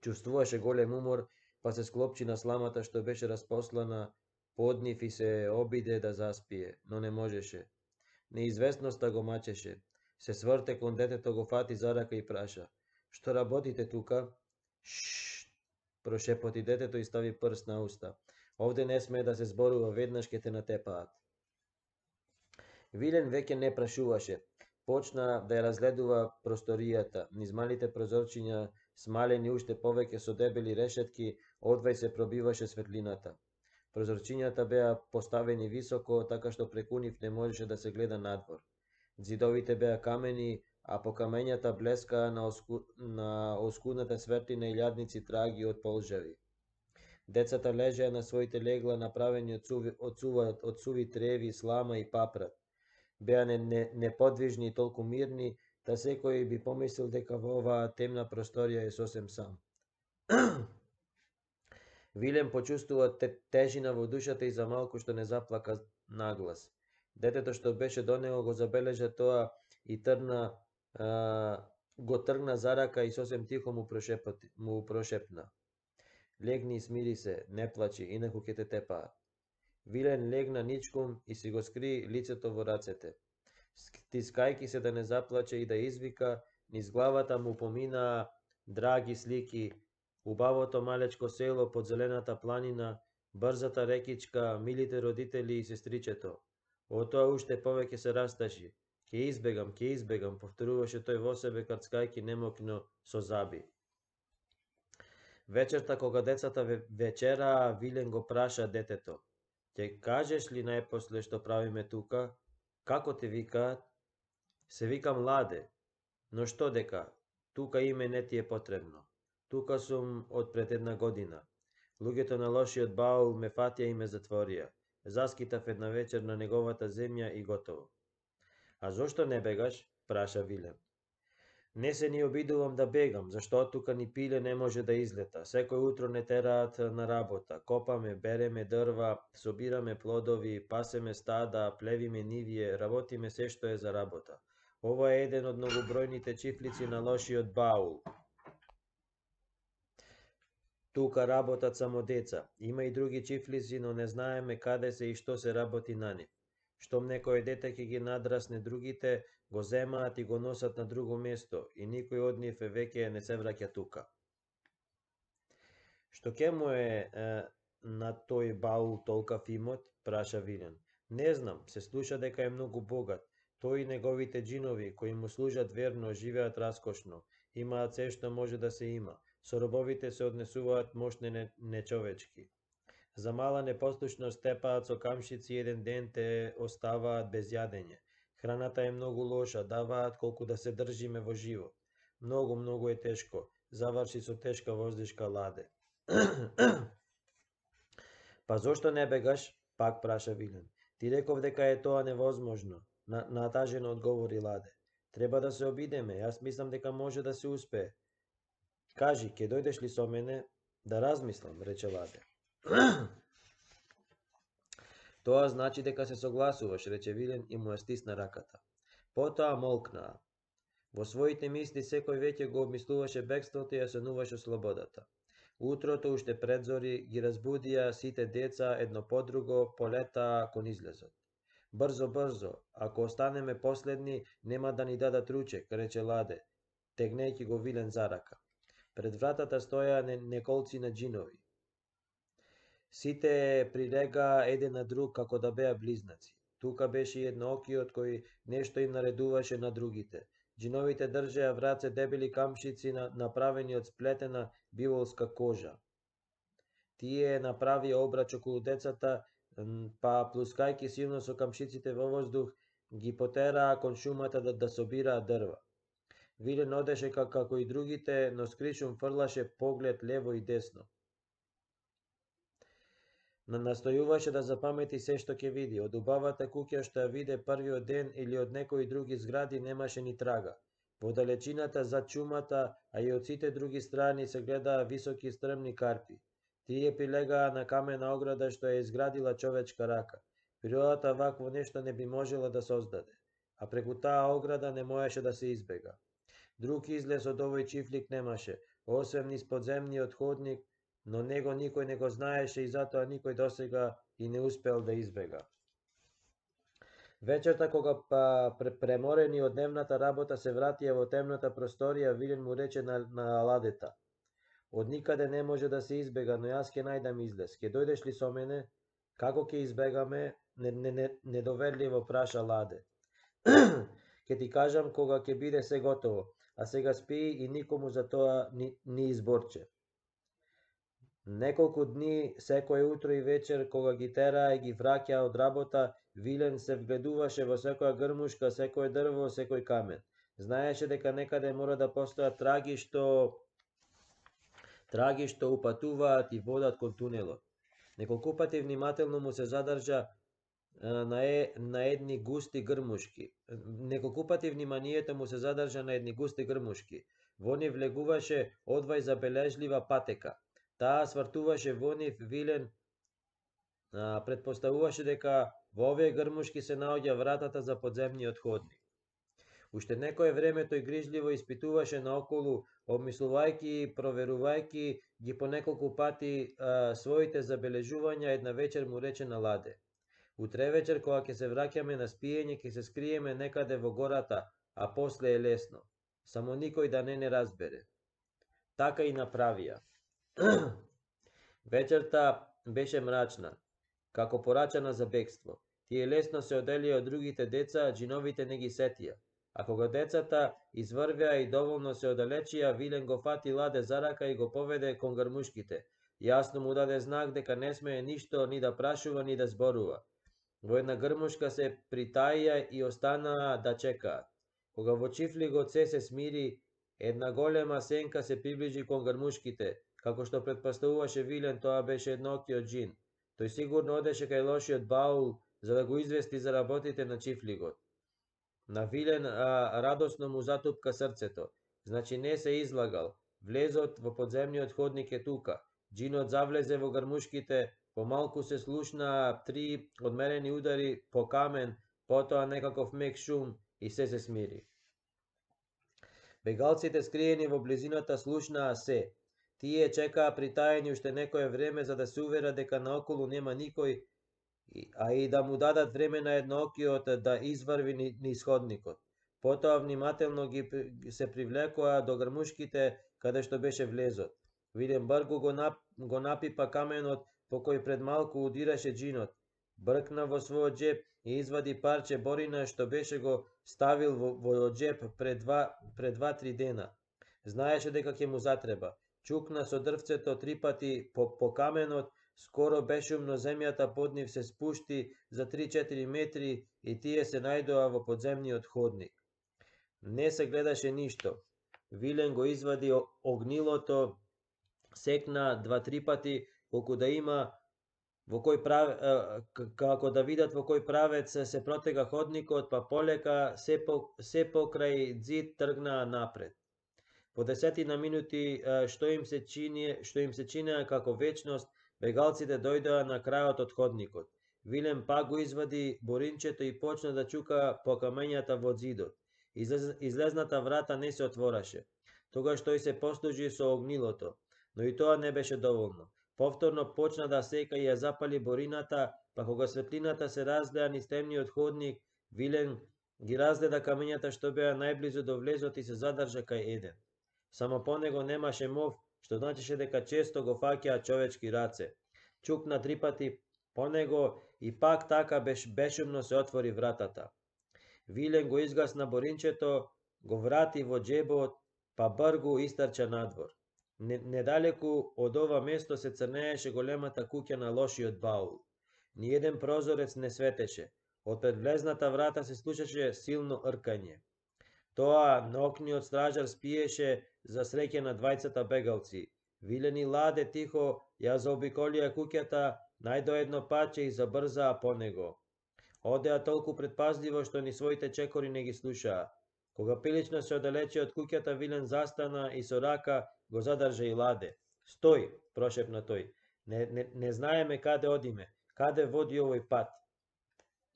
Чувствуваше голем умор, па се склопчи на сламата што беше распослана под нив и се обиде да заспие, но не можеше. Неизвестноста го мачеше. Се сврте кон детето, го фати за рака и праша. Што работите тука? Шшш, прошепоти детето и стави прст на уста. Овде не смее да се зборува, веднаш ќе те натепаат. Вилен веќе не прашуваше. Почна да ја разгледува просторијата, низ малите прозорчиња, смалени уште повеќе со дебели решетки, одвај се пробиваше светлината. Прозорчињата беа поставени високо, така што преку нив не можеше да се гледа надвор. Зидовите беа камени, а по камењата блескаа на, оску... на оскудната светлина и илјадници траги од полжави. Децата лежеа на своите легла, направени од суви, од сува, од суви треви, слама и папрат. Беа не, не, неподвижни и толку мирни, да секој би помислил дека во оваа темна просторија е сосем сам. Вилен почувствува тежина во душата и за малку што не заплака наглас. Детето што беше до него го забележа тоа и трна, а, го тргна за рака и сосем тихо му, прошепна. му прошепна. Легни и смири се, не плачи, инаку ќе те тепаат. Вилен легна ничком и си го скри лицето во рацете. Стискајки се да не заплаче и да извика, низ главата му поминаа драги слики, убавото малечко село под зелената планина, брзата рекичка, милите родители и сестричето. Од тоа уште повеќе се расташи. Ке избегам, ке избегам, повторуваше тој во себе карцкајки немокно со заби. Вечерта кога децата вечераа, Вилен го праша детето: "Ќе кажеш ли најпосле што правиме тука? Како те викаат?" "Се викам Ладе." "Но што дека? Тука име не ти е потребно. Тука сум од пред една година. Луѓето на лошиот Баул ме фатија и ме затворија. Заскитав една вечер на неговата земја и готово." "А зошто не бегаш?" праша Вилен. "Не се ни обидувам да бегам, зашто од тука ни пиле не може да излета. Секој утро не тераат на работа. Копаме, береме дрва, собираме плодови, пасеме стада, плевиме нивие, работиме се што е за работа. Ова е еден од многобројните чифлици на лошиот Баул. Тука работат само деца. Има и други чифлици, но не знаеме каде се и што се работи на нив. Штом некој дете ќе ги надрасне другите, го земаат и го носат на друго место, и никој од нив веќе не се враќа тука." "Што ке му е, е на тој Баул толкав имот?" праша Вилен. "Не знам, се слуша дека е многу богат. Тој и неговите џинови, кои му служат верно, живеат раскошно. Имаат се што може да се има. Со робовите се однесуваат мошне нечовечки. За мала непослушност тепаат со камшици и еден ден те оставаат без јадење. Храната е многу лоша, даваат колку да се држиме во живот. Многу, многу е тешко." Заврши со тешка воздишка Ладе. "Па зошто не бегаш?" пак праша Вилен. "Ти реков дека е тоа невозможно." На, натажено одговори Ладе. "Треба да се обидеме, јас мислам дека може да се успее." "Кажи, ќе дојдеш ли со мене?" "Да размислам," рече Ладе. "Тоа значи дека се согласуваш," рече Вилен и му ја стисна раката. Потоа молкнаа. Во своите мисли секој веќе го обмислуваше бегството и ја сонуваше слободата. Утрото уште пред зори ги разбудија сите деца едно по друго, полетаа кон излезот. "Брзо, брзо, ако останеме последни, нема да ни дадат ручек," рече Ладе, тегнејќи го Вилен за рака. Пред вратата стоја неколци на џинови. Сите прилегаа еден на друг како да беа близнаци. Тука беше и едноокиот кој нешто им наредуваше на другите. Џиновите држеа в раце дебели камшици направени од сплетена биволска кожа. Тие направија обрач околу децата, па плускајки силно со камшиците во воздух, ги потераа кон шумата да, да собираат дрва. Вилен одеше како и другите, но скришум фрлаше поглед лево и десно. Настојуваше да запамети се што ќе види. Од убавата куќа што ја виде првиот ден или од некои други згради немаше ни трага. Во далечината зад чумата, а и од сите други страни се гледаа високи стрмни карпи. Тие прилегаа на камена ограда што ја изградила човечка рака. Природата вакво нешто не би можела да создаде, а преку таа ограда не можеше да се избега. Друг излез од овој чифлик немаше, освен низ подземниот ходник, но него никој не го знаеше и затоа никој досега и не успел да избега. Вечерта кога па преморени од дневната работа се вратија во темната просторија, Вилен му рече на, на Ладета: "Од никаде не може да се избега, но јас ќе најдам излез. Ќе дојдеш ли со мене?" "Како ќе избегаме?" Не, не, не, недоверливо праша Ладе. "Ќе ти кажам кога ќе биде се готово, а сега спи и никому за тоа ни, ни изборче." Неколку дни, секое утро и вечер, кога ги тераа и ги враќаа од работа, Вилен се вгледуваше во секоја грмушка, секое дрво, секој камен. Знаеше дека некаде мора да постојат траги што траги што упатуваат и водат кон тунелот. Неколку пати внимателно му се задржа на, е, на едни густи грмушки. Неколку пати вниманието му се задржа на едни густи грмушки. Во нив влегуваше одвај забележлива патека. Таа свртуваше во нив. Вилен а, предпоставуваше дека во овие грмушки се наоѓа вратата за подземниот ходник. Уште некое време тој грижливо испитуваше наоколу, обмислувајќи и проверувајќи ги по неколку пати а, своите забележувања, една вечер му рече на Ладе: утре вечер кога ќе се враќаме на спиење, ќе се скриеме некаде во гората, а после е лесно. Само никој да не не разбере. Така и направија. Вечерта беше мрачна, како порачана за бегство. Тие лесно се оделија од другите деца, джиновите не ги сетија. А кога децата изврвеа и доволно се одалечија, Вилен го фати Ладе за рака и го поведе кон грмушките. Јасно му даде знак дека не смее ништо ни да прашува ни да зборува. Во една грмушка се притаија и останаа да чекаат. Кога во чифлигот се се смири, една голема сенка се приближи кон грмушките. Како што претпоставуваше Вилен, тоа беше едноокиот џин. Тој сигурно одеше кај лошиот баул за да го извести за работите на чифлигот. На Вилен а, радосно му затупка срцето. Значи не се излагал. Влезот во подземниот ходник е тука. Џинот завлезе во грмушките, помалку се слушнаа три одмерени удари по камен, потоа некаков мек шум и се се смири. Бегалците скриени во близината слушнаа се. Тие чекаа притаени уште некое време за да се уверат дека наоколу нема никој, а и да му дадат време на едноокиот да изврви низ ходникот. Потоа внимателно ги се привлекоа до грмушките каде што беше влезот. Вилен бргу го, нап, го напипа каменот по кој пред малку удираше џинот. Бркна во својот џеп и извади парче борина што беше го ставил во, во џеп пред два, пред два-три дена. Знаеше дека ќе му затреба. Чукна со дрвцето три пати по, по каменот, скоро бешумно земјата под нив се спушти за три-четири метри и тие се најдоа во подземниот ходник. Не се гледаше ништо. Вилен го извади огнилото, секна два-три пати, колку да има во кој правец, како да видат во кој правец се протега ходникот, па полека се, по, се покрај ѕид тргнаа напред. По десетина минути што им се чини, што им се чинеа како вечност, бегалците дојдоа на крајот од ходникот. Вилен пак го извади боринчето и почна да чука по камењата во ѕидот. Излез, излезната врата не се отвораше. Тогаш тој се послужи со огнилото, но и тоа не беше доволно. Повторно почна да сека и ја запали борината, па кога светлината се разлеа низ темниот ходник, Вилен ги разгледа камењата што беа најблизу до влезот и се задржа кај еден. Само по него немаше мов, што значеше дека често го фаќаа човечки раце. Чукна три пати по него и пак така беш, бешумно се отвори вратата. Вилен го изгасна боринчето, го врати во џебот, па бргу истрча надвор. Недалеку од ова место се црнееше големата куќа на лошиот баул. Ниеден прозорец не светеше. Од пред влезната врата се слушаше силно ркање. Тоа на окниот стражар спиеше за среќа на двајцата бегалци. Вилен и Ладе тихо ја заобиколија куќата, најдо едно паче и забрзаа по него. Одеа толку предпазливо што ни своите чекори не ги слушаа. Кога прилично се оддалечи од куќата, Вилен застана и со рака го задржа и Ладе. Стој, прошепна тој. Не, не, не знаеме каде одиме, каде води овој пат.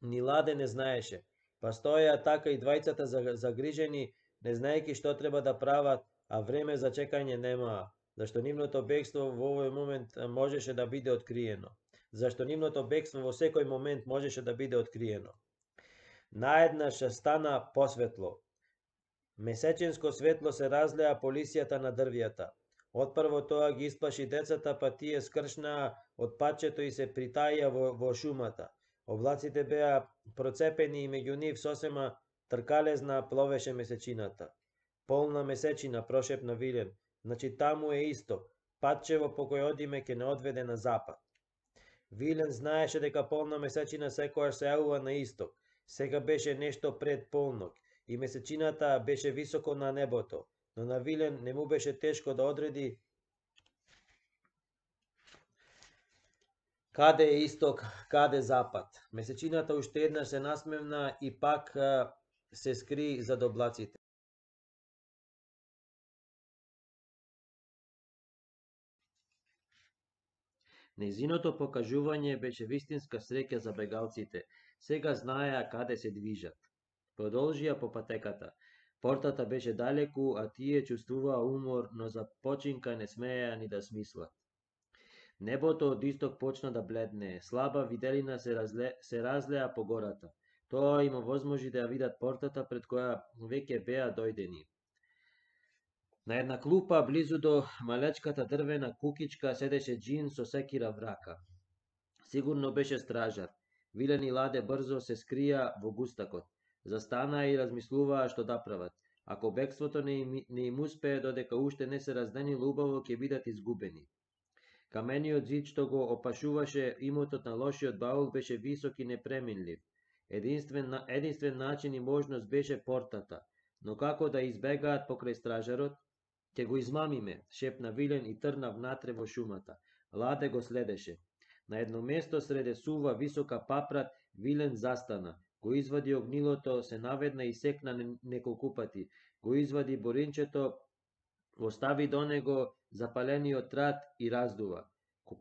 Ни Ладе не знаеше. Па стоеа така и двајцата загрижени, не знаејќи што треба да прават, а време за чекање немаа, зашто нивното бегство во овој момент можеше да биде откриено. Зашто нивното бегство во секој момент можеше да биде откриено. Наеднаш стана посветло. Месечинско светло се разлеа по лисјата на дрвјата. Отпрво тоа ги исплаши децата, па тие скршнаа од патчето и се притаија во, во шумата. Облаците беа процепени и меѓу нив сосема тркалезна пловеше месечината. Полна месечина, прошепна Вилен. Значи таму е исток. Патчево по кој одиме ќе не одведе на запад. Вилен знаеше дека полна месечина секојаш се јавува на исток. Сега беше нешто пред полнок и месечината беше високо на небото, но на Вилен не му беше тешко да одреди каде е исток, каде запад. Месечината уште еднаш се насмевна и пак се скри зад облаците. Незиното покажување беше вистинска среќа за бегалците. Сега знаеа каде се движат. Продолжија по патеката. Портата беше далеку, а тие чувствуваа умор, но за починка не смееа ни да смислат. Небото од исток почна да бледне, слаба виделина се, разле, се разлеа по гората. Тоа им овозможи да ја видат портата пред која веќе беа дојдени. На една клупа близу до малечката дрвена кукичка седеше џин со секира в рака. Сигурно беше стражар. Вилен и Ладе брзо се скрија во густакот. Застанаа и размислуваа што да прават. Ако бегството не им, не им успее додека уште не се разденило убаво, ќе бидат изгубени. Камениот зид што го опашуваше имотот на лошиот баул беше висок и непреминлив. Единствен, единствен начин и можност беше портата, но како да избегаат покрај стражарот? Ќе го измамиме, шепна Вилен и трна внатре во шумата. Ладе го следеше. На едно место среде сува висока папрат, Вилен застана. Го извади огнилото, се наведна и секна неколку пати. Го извади боринчето, остави до него запалениот трат и раздува.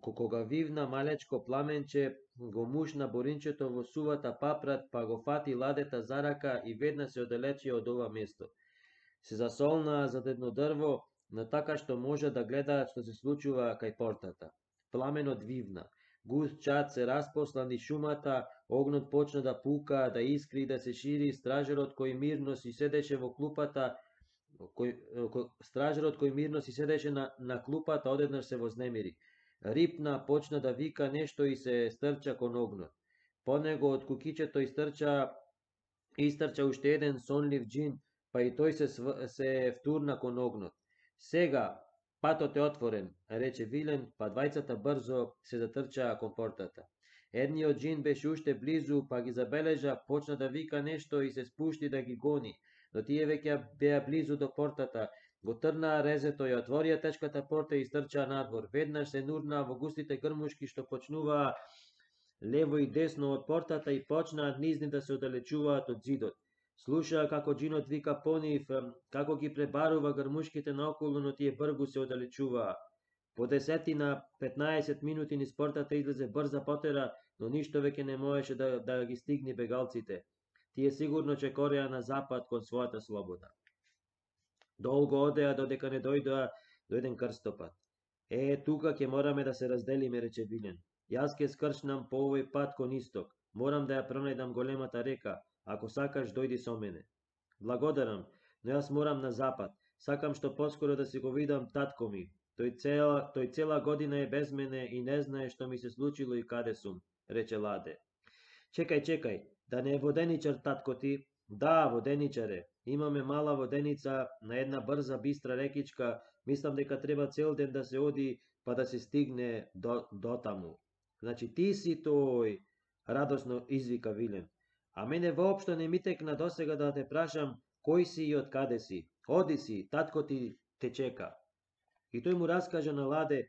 Кога вивна малечко пламенче, го мушна боринчето во сувата папрат, па го фати Ладета за рака и ведна се оддалечија од ова место. Се засолнаа зад едно дрво, но така што може да гледаат што се случува кај портата. Пламенот вивна. Густ чад се распосла низ шумата, огнот почна да пука, да искри и да се шири. Стражарот кој мирно си седеше во клупата, кој, кој, стражарот кој мирно си седеше на, на клупата, одеднаш се вознемири. Рипна, почна да вика нешто и се стрча кон огнот. По него од кукичето истрча, истрча уште еден сонлив џин, па и тој се, се втурна кон огнот. Сега, патот е отворен, рече Вилен, па двајцата брзо се затрчаа кон портата. Едниот џин беше уште близу, па ги забележа, почна да вика нешто и се спушти да ги гони, но тие веќе беа близу до портата. Го трнаа резето, ја отворија тешката порта и стрчаа надвор. Веднаш се нурнаа во густите грмушки што почнуваа лево и десно од портата и почнаа низни да се оддалечуваат од зидот. Слушаа како џинот вика по нив, како ги пребарува грмушките наоколу, но тие бргу се оддалечуваа. По десетина петнаесет минути низ портата излезе брза потера, но ништо веќе не можеше да, да ги стигне бегалците. Тие сигурно чекореа на запад кон својата слобода. Долго одеа додека не дојдоа до еден крстопат. Е, тука ќе мораме да се разделиме, рече Вилен. Јас ќе скршнам по овој пат кон исток. Морам да ја пронајдам големата река. Ако сакаш, дојди со мене. Благодарам, но јас морам на запад. Сакам што поскоро да си го видам татко ми. Тој цела, тој цела година е без мене и не знае што ми се случило и каде сум, рече Ладе. Чекај, чекај, да не е воденичар татко ти? Да, воденичар е. Имаме мала воденица на една брза бистра рекичка. Мислам дека треба цел ден да се оди па да се стигне до, до таму. Значи ти си тој, радосно извика Вилен. А мене воопшто не ми текна досега да те прашам кој си и од каде си. Оди си, татко ти те чека. И тој му раскажа на Ладе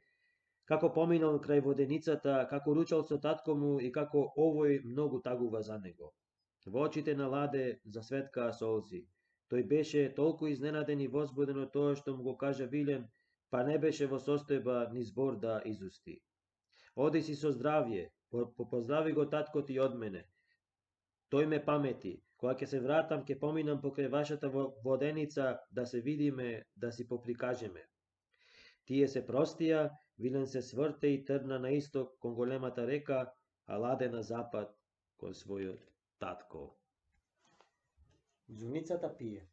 како поминал крај воденицата, како ручал со татко му и како овој многу тагува за него. Во очите на Ладе засветкаа солзи. Тој беше толку изненаден и возбуден од тоа што му го кажа Вилен, па не беше во состојба ни збор да изусти. Оди си со здравје, поздрави го татко ти од мене. Тој ме памети. Кога ќе се вратам, ќе поминам покрај вашата воденица да се видиме, да си поприкажеме. Тие се простија, Вилен се сврте и тргна на исток кон големата река, а Ладе на запад кон својот татко. Џуницата пие.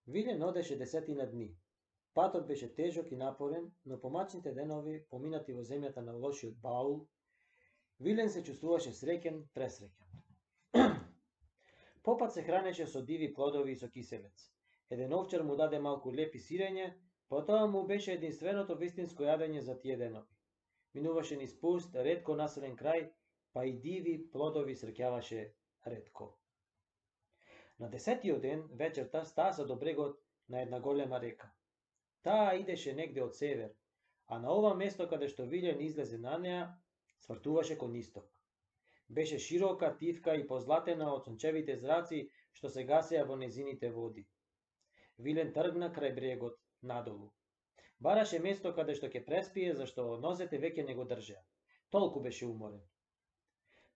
Вилен одеше десетина дни. Патот беше тежок и напорен, но помачните денови, поминати во земјата на лошиот баул, Вилен се чувствуваше среќен, пресреќен. Попат се хранеше со диви плодови и со киселец. Еден овчар му даде малку лепи сирење, потоа му беше единственото вистинско јадење за тие денови. Минуваше низ пуст, ретко населен крај, па и диви плодови среќаваше ретко. На десетиот ден, вечерта, стаса до брегот на една голема река. Таа идеше негде од север, а на ова место каде што Вилен излезе на неа, свртуваше кон исток. Беше широка, тивка и позлатена од сончевите зраци што се гасеа во незините води. Вилен тргна крај брегот надолу. Бараше место каде што ќе преспие, зашто нозете веќе не го држеа. Толку беше уморен.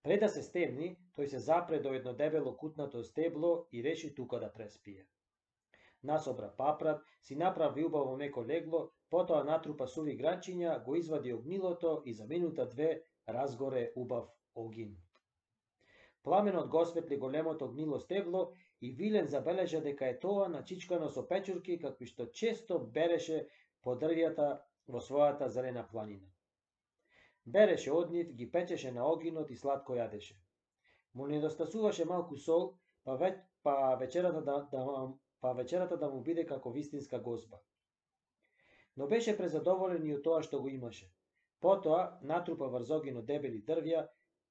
Пред да се стемни, тој се запре до едно дебело кутнато стебло и реши тука да преспие. Насобра папрат, си направи убаво меко легло, потоа натрупа суви гранчиња, го извади огнилото и за минута две разгоре убав огин. Пламенот го осветли големото огнило стебло и Вилен забележа дека е тоа начичкано со печурки какви што често береше по дрвјата во својата зелена планина. Береше од нив, ги печеше на огинот и сладко јадеше. Му недостасуваше малку сол, па, ве, па, вечерата да, да, па вечерата да му биде како вистинска гозба. Но беше презадоволен и од тоа што го имаше. Потоа натрупа врз огинот дебели дрвја,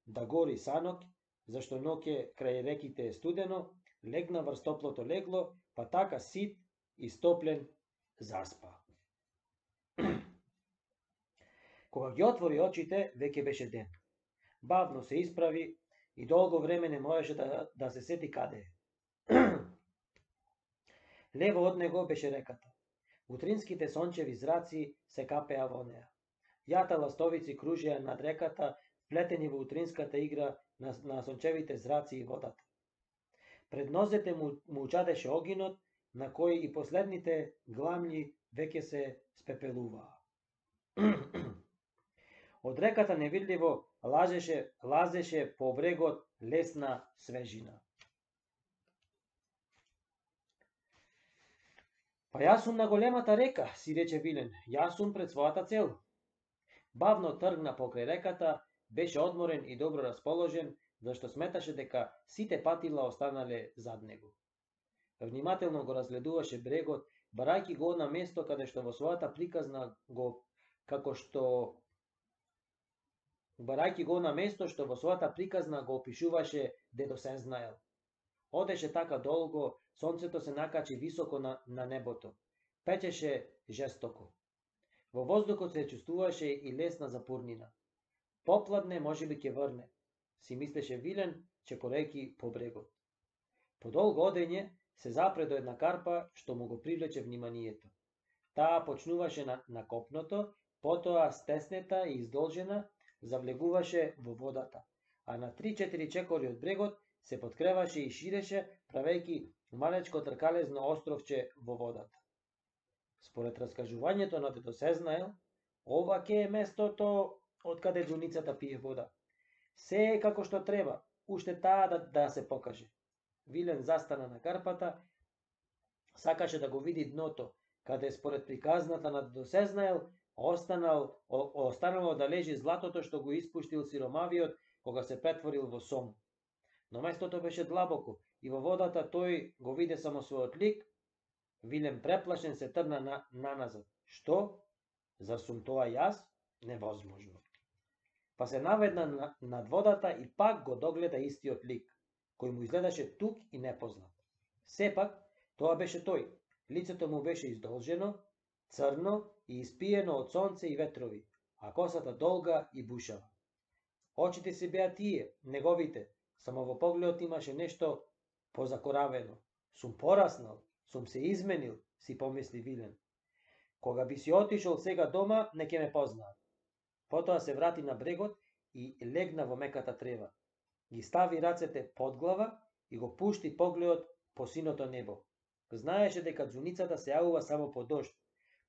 да гори санок, зашто ноќе крај реките е студено, легна врз топлото легло, па така сит и стоплен заспа. Кога ги отвори очите, веќе беше ден. Бавно се исправи и долго време не можеше да, да се сети каде е. Лево од него беше реката. Утринските сончеви зраци се капеа во неа. Јата ластовици кружеа над реката, вплетени во утринската игра на, на сончевите зраци и водата. Пред нозете му, му чадеше огинот, на кој и последните гламли веќе се спепелуваа. Од реката невидливо лажеше, лазеше по брегот лесна свежина. Па јас сум на големата река, си рече Вилен, јас сум пред својата цел. Бавно тргна покрај реката, беше одморен и добро расположен, зашто сметаше дека сите патила останале зад него. Внимателно го разгледуваше брегот, барајќи го на место каде што во својата приказна го како што барајќи го на место што во својата приказна го опишуваше дедо се знаел. Одеше така долго, сонцето се накачи високо на, на небото. Печеше жестоко. Во воздухот се чувствуваше и лесна запурнина. Попладне можеби ќе врне, си мислеше Вилен, чекорејќи по брегот. По долго одење се запре до една карпа што му го привлече вниманието. Таа почнуваше на, на копното, потоа стеснета и издолжена, завлегуваше во водата, а на три-четири чекори од брегот се подкреваше и ширеше, правејќи малечко тркалезно островче во водата. Според раскажувањето на дедо Сезнаел, ова ке е местото од каде џуницата пие вода. Се е како што треба, уште таа да, да се покаже. Вилен застана на карпата, сакаше да го види дното, каде според приказната на дедо Сезнаел останал, о, останало да лежи златото што го испуштил сиромавиот кога се претворил во сом. Но местото беше длабоко и во водата тој го виде само својот лик. Вилен преплашен се тргна на, наназад. Што? Зар сум тоа јас? Невозможно. Па се наведна над водата и пак го догледа истиот лик, кој му изгледаше тук и непознат. Сепак, тоа беше тој. Лицето му беше издолжено, црно и испиено од сонце и ветрови, а косата долга и бушава. Очите се беа тие, неговите, само во погледот имаше нешто позакоравено. Сум пораснал, сум се изменил, си помисли Вилен. Кога би си отишол сега дома, не ќе ме познаат. Потоа се врати на брегот и легна во меката трева. Ги стави рацете под глава и го пушти погледот по синото небо. Знаеше дека џуницата се јавува само по дожд,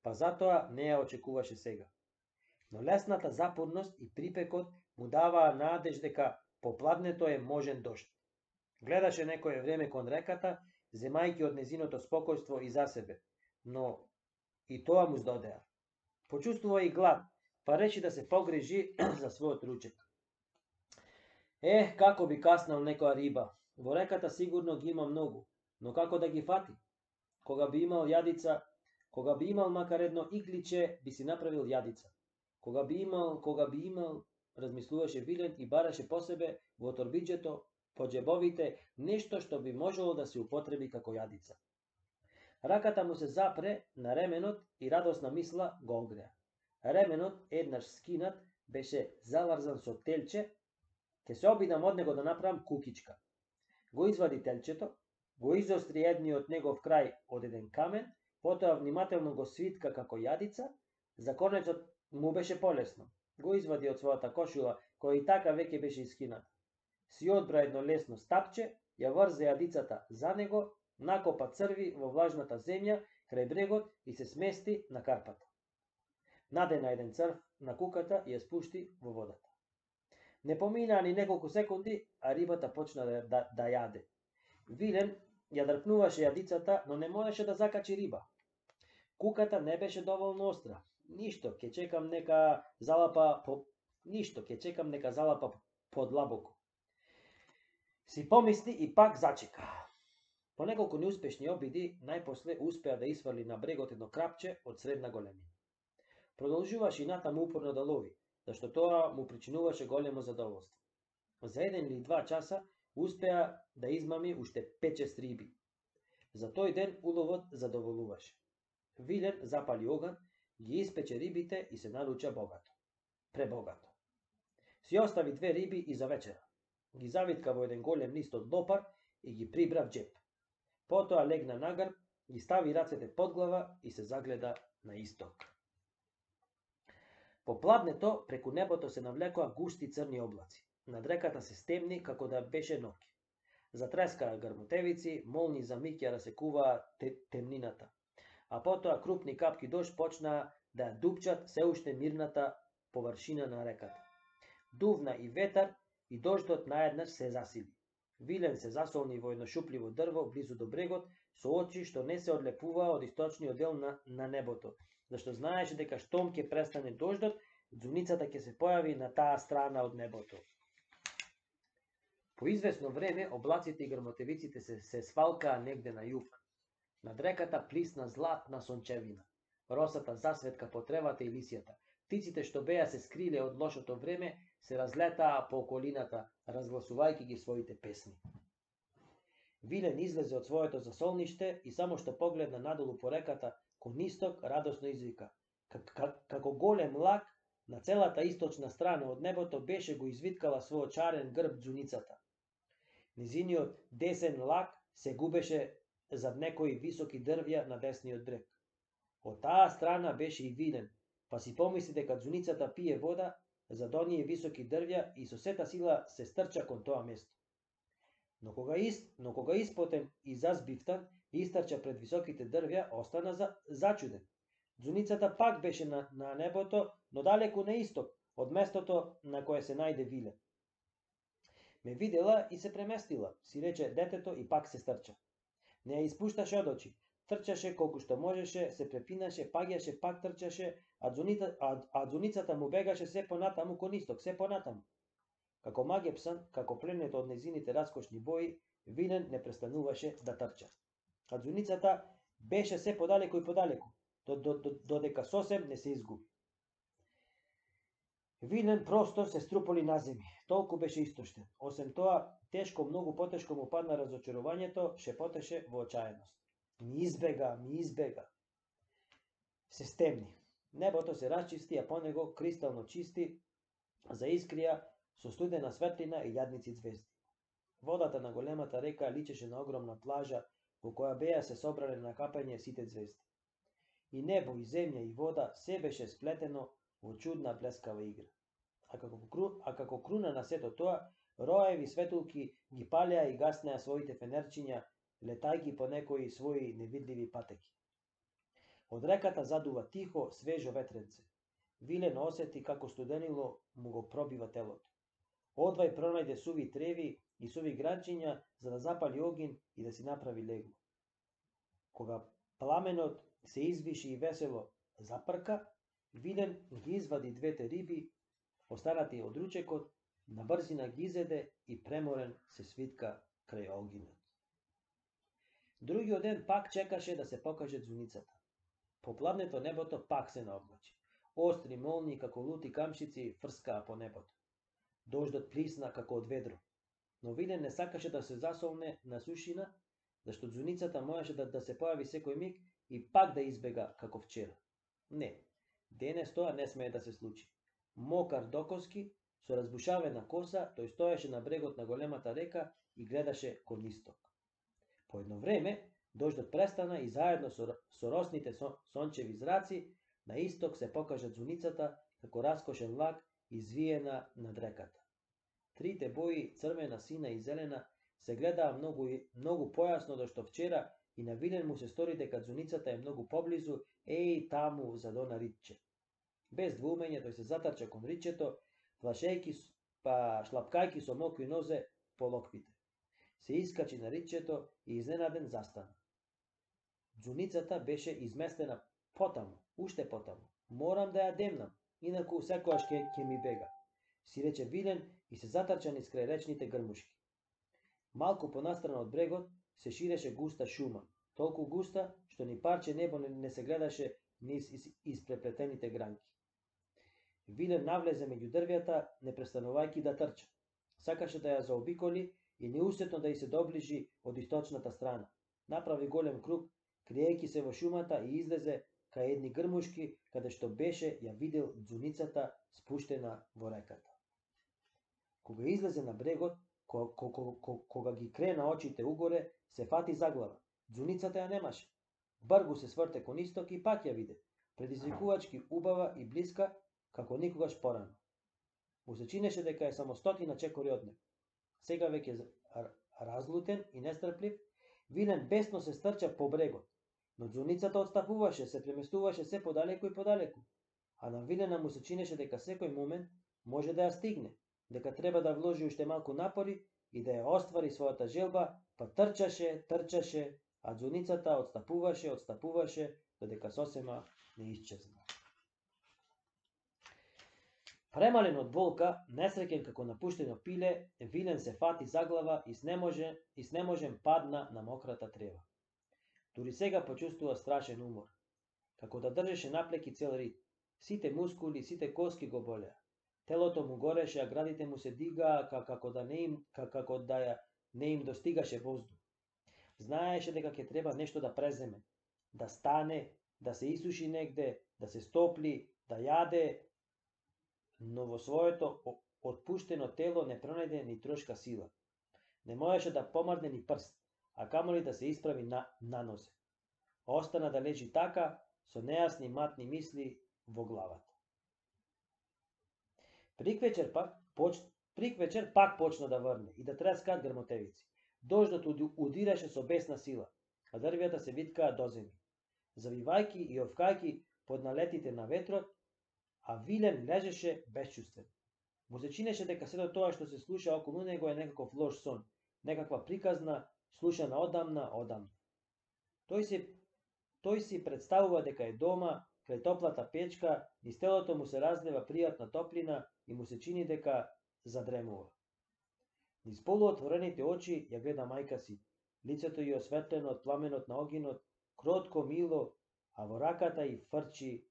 па затоа не ја очекуваше сега. Но лесната запорност и припекот му даваа надеж дека попладнето е можен дожд. Гледаше некое време кон реката, земајќи од незиното спокојство и за себе, но и тоа му здодеа. Почувствува и глад, па реши да се погрижи за својот ручек. Ех, како би каснал некоја риба. Во реката сигурно ги има многу, но како да ги фати? Кога би имал јадица, кога би имал макар едно игличе, би си направил јадица. Кога би имал, кога би имал, размислуваше Вилен и бараше по себе во торбиџето, по џебовите, нешто што би можело да се употреби како јадица. Раката му се запре на ременот и радосна мисла го огреа. Ременот, еднаш скинат, беше заврзан со телче. Ке се обидам од него да направам кукичка. Го извади телчето, го изостри едниот негов крај од еден камен, потоа внимателно го свитка како јадица. За конецот му беше полесно. Го извади од својата кошула, која и така веќе беше искината. си одбра едно лесно стапче, ја врзе јадицата за него, накопа црви во влажната земја крај брегот и се смести на карпата. Надена еден црв на куката и ја спушти во водата. Не поминаа ни неколку секунди, а рибата почна да, да, да јаде. Вилен ја дрпнуваше јадицата, но не можеше да закачи риба. Куката не беше доволно остра. Ништо, ќе чекам нека залапа по ништо, ќе чекам нека залапа подлабоко. Си помисли и пак зачека. По неколку неуспешни обиди, најпосле успеа да извали на брегот едно крапче од средна големина. Продолжуваше и натаму упорно да лови, зашто тоа му причинуваше големо задоволство. За еден или два часа успеа да измами уште пет-шест риби. За тој ден уловот задоволуваше. Вилен запали оган, ги испече рибите и се наруча богато. Пребогато. Си остави две риби и за вечера. Ги завитка во еден голем лист од лопар и ги прибра в джеп. Потоа легна на грб, ги стави рацете под глава и се загледа на исток. По пладнето преку небото се навлекоа густи црни облаци. Над реката се стемни како да беше ноќ. Затрескаа грмотевици, молни за миг ја расекуваа темнината. А потоа крупни капки дожд почнаа да ја дупчат се уште мирната површина на реката. Дувна и ветар и дождот наеднаш се засили. Вилен се засолни во едно шупливо дрво близу до брегот, со очи што не се одлепуваа од источниот дел на, на небото, зашто знаеше дека штом ќе престане дождот, ѕуницата ќе се појави на таа страна од небото. По извесно време облаците и грмотевиците се, се свалкаа негде на југ. Над реката плисна златна сончевина. Росата засветка по тревата и лисјата. Птиците што беа се скриле од лошото време се разлетаа по околината, разгласувајќи ги своите песни. Вилен излезе од своето засолниште и само што погледна надолу по реката, кон исток радосно извика. Како голем лак, на целата источна страна од небото беше го извиткала својот чарен грб ѕуницата. Низиниот десен лак се губеше зад некои високи дрвја на десниот брег. Од таа страна беше и Вилен, па си помисли дека ѕуницата пие вода зад оние високи дрвја и со сета сила се стрча кон тоа место. Но кога, из, но кога испотен и зазбивтан, истрча пред високите дрвја, остана за, зачуден. Ձуницата пак беше на, на небото, но далеку на исток, од местото на кое се најде Вилен. Ме видела и се преместила, си рече детето и пак се стрча. Не ја испушташе од очи, трчаше колку што можеше, се препинаше, паѓаше, пак трчаше, а, дзуница, а, а ձуницата му бегаше се понатаму кон исток, се понатаму. Како магепсан, како пленет од незините раскошни бои, Вилен не престануваше да трча. А ձуницата беше се подалеку и подалеку, додека сосем не се изгуби. Вилен просто се струполи на земји, толку беше истоштен. Осем тоа, тешко, многу потешко му падна разочарувањето, шепотеше во очаеност. Ми избега, ми избега. Се стемни. Небото се расчисти, а по него кристално чисти, заискрија со студена светлина и јадници звезди. Водата на големата река личеше на огромна плажа во која беа се собрале на капање сите звезди. И небо, и земја, и вода се беше сплетено во чудна блескава игра. А како, а како круна на сето тоа, роеви светулки ги палеа и гаснеа своите фенерчиња, летајки по некои своји невидливи патеки. Од реката задува тихо, свежо ветренце. Вилен осети како студенило му го пробива телото. Одвај пронајде суви треви и суви гранчиња за да запали огин и да си направи легло. Кога пламенот се извиши и весело запрка, Вилен ги извади двете риби, останати од ручекот, на брзина ги изеде и преморен се свитка крај огинот. Другиот ден пак чекаше да се покаже ձуницата. По пладнето небото пак се наоблачи. Остри молни како лути камшици фрскаа по небото. Дождот плисна како од ведро. Но Вилен не сакаше да се засолне на сушина, зашто ձуницата можеше да, да се појави секој миг и пак да избега како вчера. Не, денес тоа не смее да се случи. Мокар докоски, со разбушавена коса, тој стоеше на брегот на големата река и гледаше кон исток. По едно време, дождот престана и заедно со, со росните со, сончеви зраци, на исток се покажа ձуницата како раскошен лак извиена над реката. Трите бои, црвена, сина и зелена, се гледаа многу, многу појасно до што вчера и на Вилен му се стори дека ѕуницата е многу поблизу, еј таму за дона ритче. Без двоумење тој се затрча кон ритчето, плашејки па шлапкајки со мокри нозе по локвите. Се искачи на ритчето и изненаден застана. Ѕуницата беше изместена потаму, уште потаму. Морам да ја демнам, инаку секојаш ќе ќе ми бега, си рече Вилен и се затрча низ крај речните грмушки. Малку понастрана од брегот се ширеше густа шума, толку густа што ни парче небо не се гледаше низ испреплетените гранки. Вилен навлезе меѓу дрвјата, не престанувајќи да трча. Сакаше да ја заобиколи и неусетно да ја се доближи од источната страна. Направи голем круг, криејќи се во шумата и излезе кај едни грмушки, каде што беше ја видел дзуницата спуштена во реката. Кога излезе на брегот, кога, кога, кога ги крена очите угоре, се фати за глава. Дзуницата ја немаше. Бргу се сврте кон исток и пак ја виде, предизвикувачки убава и блиска, како никогаш порано. Му се чинеше дека е само стотина чекори од него. Сега веќе разлутен и нестрплив, Вилен бесно се стрча по брегот, но дзуницата отстапуваше, се преместуваше се подалеку и подалеку, а на Вилена му се чинеше дека секој момент може да ја стигне, дека треба да вложи уште малку напори и да ја оствари својата желба, па трчаше, трчаше, а дзуницата отстапуваше, отстапуваше, додека сосема не исчезна. Премален од болка, несреќен како напуштено пиле, Вилен се фати за глава и снеможен, и снеможен падна на мократа трева. Дури сега почувствува страшен умор, како да држеше наплеки цел рит. Сите мускули, сите коски го болеа. Телото му гореше, а градите му се дигаа како да не им како да ја не им достигаше воздух. Знаеше дека ќе треба нешто да преземе, да стане, да се исуши негде, да се стопли, да јаде, но во своето отпуштено тело не пронајде ни трошка сила. Не можеше да помрдне ни прст, а камоли да се исправи на, на нозе. Остана да лежи така, со нејасни матни мисли во главата. Приквечер пак, поч... Приквечер пак почна да врне и да трескаат грмотевици. Дождот удираше со бесна сила, а дрвјата се виткаа до земји. Завивајки и овкајки под налетите на ветрот, а Вилен лежеше безчувствен. Му се чинеше дека сето тоа што се слуша околу него е некаков лош сон, некаква приказна, слушана одамна, одамна. Тој си, тој си представува дека е дома, крај топлата печка, низ телото му се разлива пријатна топлина и му се чини дека задремува. Низ полуотворените очи ја гледа мајка си, лицето ја осветлено од пламенот на огинот, кротко, мило, а во раката ѝ фрчи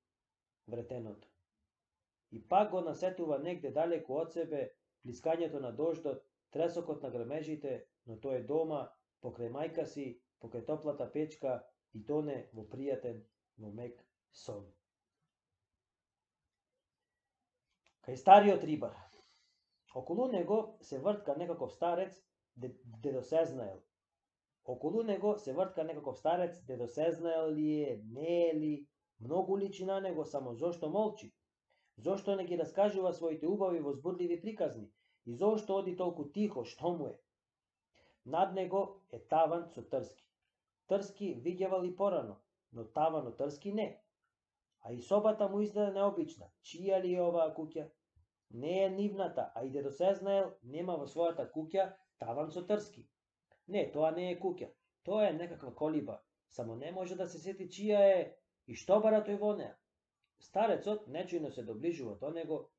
вретеното. И пак го насетува негде далеку од себе плискањето на дождот, тресокот на грмежите, но тој е дома, покрај мајка си, покрај топлата печка и тоне во пријатен, во мек сон. Кај стариот рибар. Околу него се вртка некаков старец, дедосезнаел. Околу него се вртка некаков старец, дедосезнаел ли е, не е ли, многу личи на него, само зошто молчи? Зошто не ги раскажува своите убави возбудливи приказни? И зошто оди толку тихо, што му е? Над него е таван со трски. Трски видјавал и порано, но таван од трски не. А и собата му изгледа необична. Чија ли е оваа куќа? Не е нивната, а и дедосезнаел нема во својата куќа таван со трски. Не, тоа не е куќа. Тоа е некаква колиба. Само не може да се сети чија е и што бара тој во неа. Старецот нечујно се доближува до него,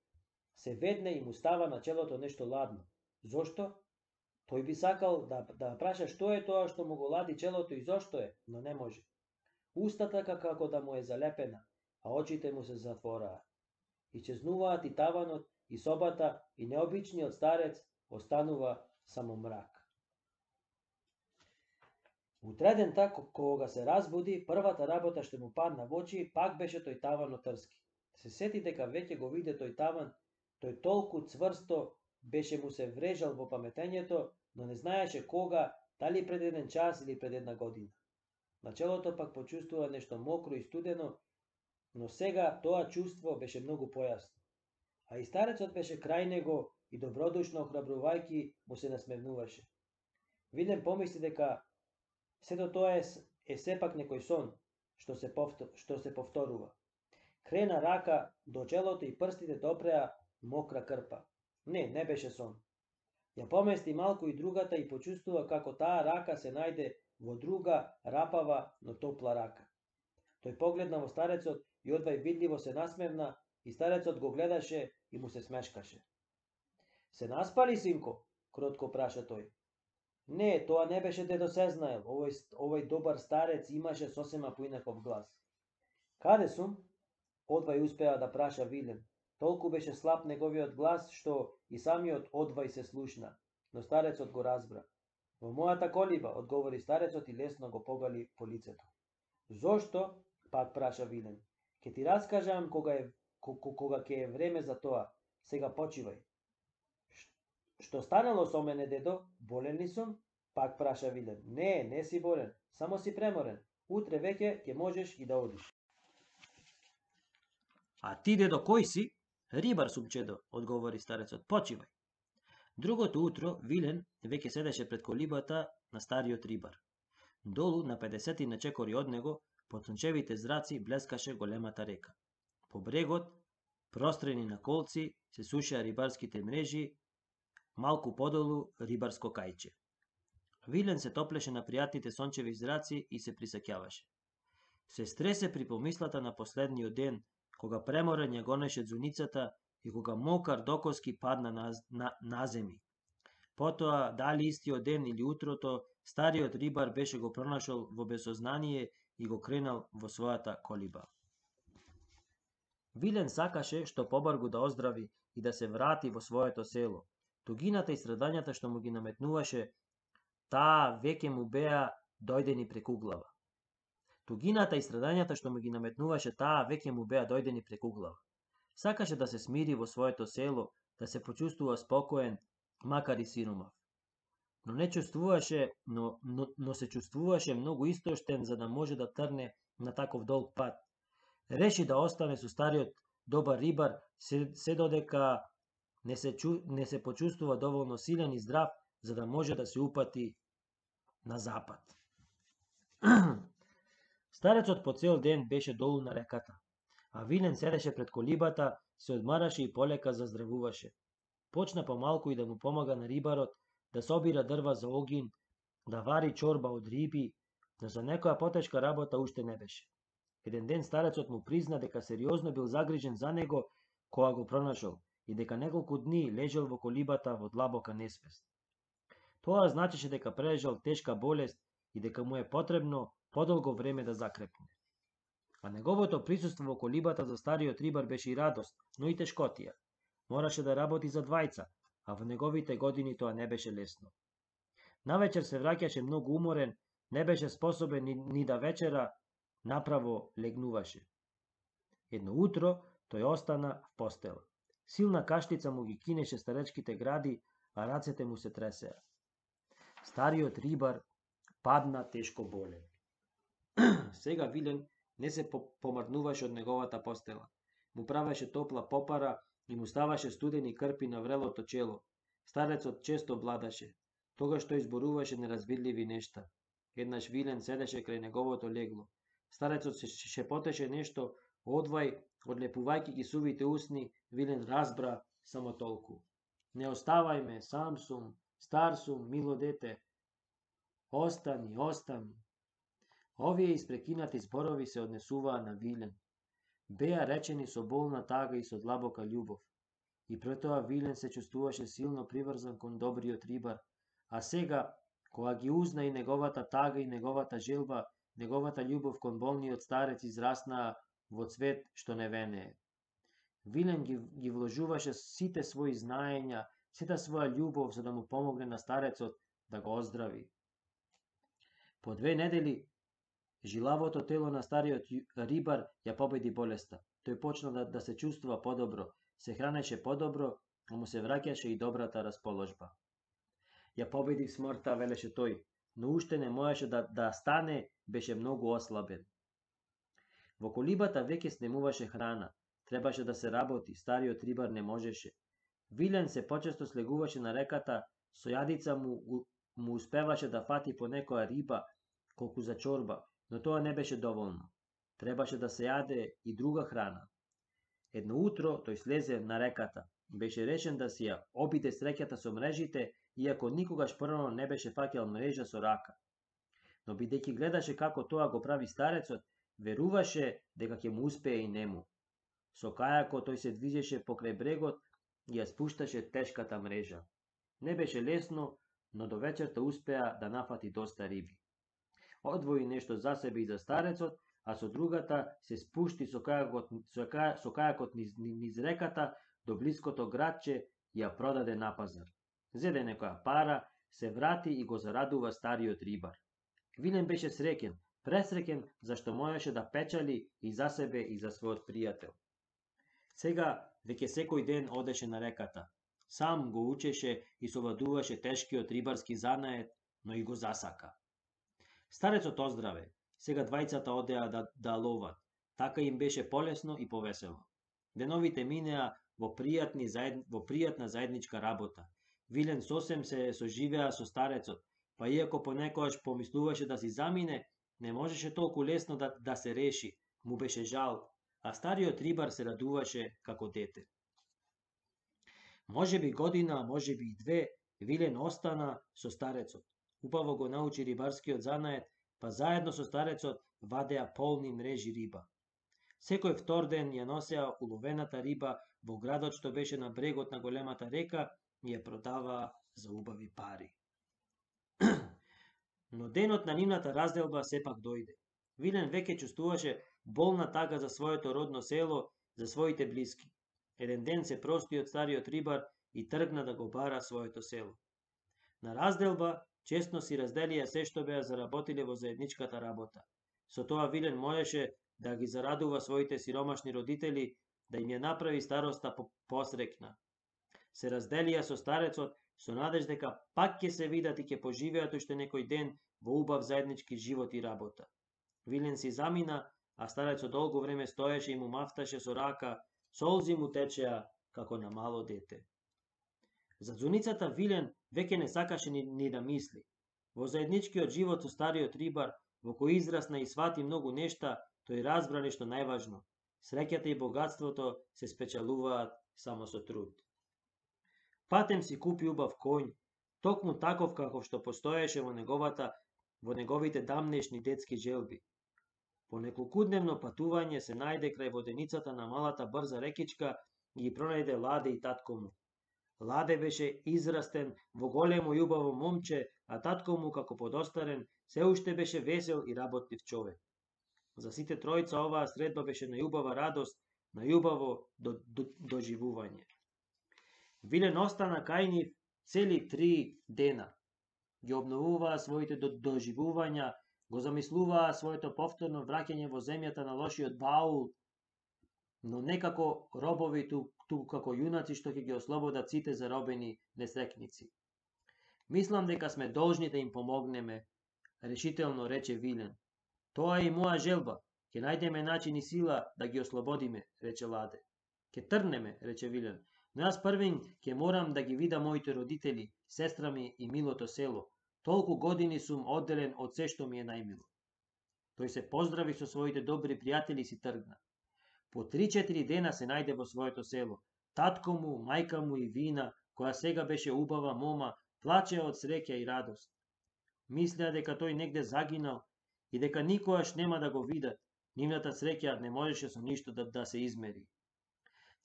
се ведне и му става на челото нешто ладно. Зошто? Тој би сакал да, да праша што е тоа што му го лади челото и зошто е, но не може. Устата како да му е залепена, а очите му се затвораат. Исчезнуваат и таванот, и собата, и необичниот старец, останува само мрак. Утредента, кога се разбуди, првата работа што му падна во очи, пак беше тој таван од трски. Се сети дека веќе го виде тој таван, тој толку цврсто беше му се врежал во паметењето, но не знаеше кога, дали пред еден час или пред една година. На челото пак почувствува нешто мокро и студено, но сега тоа чувство беше многу појасно. А и старецот беше крај него и добродушно охрабрувајќи му се насмевнуваше. Вилен помисли дека сето тоа е, е сепак некој сон што се, повтор, што се повторува. Крена рака до челото и прстите допреа мокра крпа. Не, не беше сон. Ја помести малку и другата и почувствува како таа рака се најде во друга, рапава, но топла рака. Тој погледна во старецот и одвај видливо се насмевна и старецот го гледаше и му се смешкаше. Се наспали, синко? Кротко праша тој. Не, тоа не беше дедо Сезнаел, овој, овој добар старец имаше сосема поинаков глас. Каде сум? Одвај успеа да праша Вилен. Толку беше слаб неговиот глас, што и самиот Одвај се слушна, но старецот го разбра. Во мојата колиба, одговори старецот и лесно го погали по лицето. Зошто? Пак праша Вилен. Ке ти раскажам кога е кога ќе е време за тоа. Сега почивај. Што станало со мене, дедо? Болен ли сум? Пак праша Вилен. Не, не си болен, само си преморен. Утре веќе ќе можеш и да одиш. А ти, дедо, кој си? Рибар сум, чедо, одговори старецот. Почивај. Другото утро Вилен веќе седеше пред колибата на стариот рибар. Долу на педесетина чекори од него, под сончевите зраци, блескаше големата река. По брегот, прострени на колци, се сушеа рибарските мрежи, малку подолу рибарско кајче. Вилен се топлеше на пријатните сончеви зраци и се присеќаваше. Се стресе при помислата на последниот ден, кога преморен ја гонеше дзуницата и кога мокар докоски падна на, на, на земи. Потоа, дали истиот ден или утрото, стариот рибар беше го пронашол во безсознание и го кренал во својата колиба. Вилен сакаше што побаргу да оздрави и да се врати во своето село. Тугината и страдањата што му ги наметнуваше, таа веќе му беа дојдени преку глава. Тугината и страдањата што му ги наметнуваше, таа веќе му беа дојдени преку глава. Сакаше да се смири во своето село, да се почувствува спокоен, макар и сиромав. Но не чувствуваше, но, но, но се чувствуваше многу истоштен за да може да трне на таков долг пат. Реши да остане со стариот добар рибар се, се додека не се, чу, не се почувствува доволно силен и здрав за да може да се упати на запад. Старецот по цел ден беше долу на реката, а Вилен седеше пред колибата, се одмараше и полека заздравуваше. Почна помалку и да му помага на рибарот, да собира дрва за огин, да вари чорба од риби, но за некоја потешка работа уште не беше. Еден ден старецот му призна дека сериозно бил загрижен за него кога го пронашол и дека неколку дни лежал во колибата во длабока несвест. Тоа значеше дека прележал тешка болест и дека му е потребно подолго време да закрепне. А неговото присуство во колибата за стариот рибар беше и радост, но и тешкотија. Мораше да работи за двајца, а во неговите години тоа не беше лесно. Навечер се враќаше многу уморен, не беше способен ни, ни да вечера, направо легнуваше. Едно утро тој остана в постела. Силна кашлица му ги кинеше старечките гради, а рацете му се тресеа. Стариот рибар падна тешко болен. Сега Вилен не се помрднуваше од неговата постела. Му правеше топла попара и му ставаше студени крпи на врелото чело. Старецот често бладаше, тогаш тој изборуваше неразвидливи нешта. Еднаш Вилен седеше крај неговото легло. Старецот се шепотеше нешто, одвај, одлепувајќи ги сувите усни, Вилен разбра само толку. Не оставај ме, сам сум, стар сум, мило дете. Остани, остани. Овие испрекинати зборови се однесуваа на Вилен. Беа речени со болна тага и со длабока љубов. И пред тоа Вилен се чувствуваше силно приврзан кон добриот рибар, а сега, кога ги узна и неговата тага и неговата желба, неговата љубов кон болниот старец израснаа во цвет што не венее. Вилен ги, ги вложуваше сите своји знаења, сета своја љубов за да му помогне на старецот да го оздрави. По две недели жилавото тело на стариот рибар ја победи болеста. Тој почна да, да се чувствува подобро, се хранеше подобро, а му се враќаше и добрата расположба. Ја победи смртта, велеше тој, но уште не можеше да, да стане, беше многу ослабен. Во колибата веќе снемуваше храна, требаше да се работи, стариот рибар не можеше. Вилен се почесто слегуваше на реката, со јадица му, му успеваше да фати по некоја риба, колку за чорба, но тоа не беше доволно. Требаше да се јаде и друга храна. Едно утро тој слезе на реката. Беше решен да си ја обиде среќата со мрежите, иако никогаш прво не беше фаќал мрежа со рака. Но бидејќи гледаше како тоа го прави старецот, веруваше дека ќе му успее и нему. Со кајако тој се движеше покрај брегот и ја спушташе тешката мрежа. Не беше лесно, но до вечерта успеа да нафати доста риби. Одвои нешто за себе и за старецот, а со другата се спушти со кајакот, со кај, со кајакот низ, низ реката до блиското градче и ја продаде на пазар. Зеде некоја пара, се врати и го зарадува стариот рибар. Вилен беше среќен, пресреќен зашто можеше да печали и за себе и за својот пријател. Сега веќе секој ден одеше на реката. Сам го учеше и совладуваше тешкиот рибарски занает, но и го засака. Старецот оздраве. Сега двајцата одеа да, да ловат. Така им беше полесно и повесело. Деновите минеа во пријатни заед... во пријатна заедничка работа. Вилен сосем се соживеа со старецот, па иако понекогаш помислуваше да си замине, не можеше толку лесно да, да се реши, му беше жал, а стариот рибар се радуваше како дете. Може би година, може би и две, Вилен остана со старецот. Убаво го научи рибарскиот занает, па заедно со старецот вадеа полни мрежи риба. Секој втор ден ја носеа уловената риба во градот што беше на брегот на големата река и ја продаваа за убави пари. Но денот на нивната разделба сепак дојде. Вилен веќе чувствуваше болна тага за своето родно село, за своите блиски. Еден ден се прости од стариот рибар и тргна да го бара своето село. На разделба честно си разделија се што беа заработиле во заедничката работа. Со тоа Вилен можеше да ги зарадува своите сиромашни родители, да им ја направи староста посрекна. Се разделија со старецот со надеж дека пак ќе се видат и ќе поживеат уште некој ден во убав заеднички живот и работа. Вилен си замина, а старецот долго време стоеше и му мафташе со рака, солзи му течеа како на мало дете. За зуницата Вилен веќе не сакаше ни, ни да мисли. Во заедничкиот живот со стариот рибар, во кој израсна и свати многу нешта, тој разбра нешто најважно. Среќата и богатството се спечалуваат само со труд. Патем си купи убав коњ, токму таков каков што постоеше во неговата, во неговите дамнешни детски желби. По неколкудневно патување се најде крај воденицата на малата брза рекичка и ги пронајде Ладе и татко му. Ладе беше израстен во големо и убаво момче, а татко му како подостарен се уште беше весел и работлив човек. За сите тројца оваа средба беше најубава радост, најубаво до, до, доживување. Вилен остана кај нив цели три дена. Ги обновуваа своите до, доживувања, го замислуваа своето повторно враќање во земјата на лошиот Баул, но некако робови туку ту, како јунаци што ќе ги ослободат сите заробени несрекници. Мислам дека сме должни да им помогнеме, решително рече Вилен. Тоа е и моја желба, ќе најдеме начин и сила да ги ослободиме, рече Ладе. Ќе тргнеме, рече Вилен, но јас првин ќе морам да ги видам моите родители, сестра ми и милото село. Толку години сум одделен од се што ми е најмило. Тој се поздрави со своите добри пријатели и си тргна. По три-четири дена се најде во своето село. Татко му, мајка му и Вина, која сега беше убава мома, плачеа од среќа и радост. Мислеа дека тој негде загинал и дека никогаш нема да го видат. Нивната среќа не можеше со ништо да, да се измери.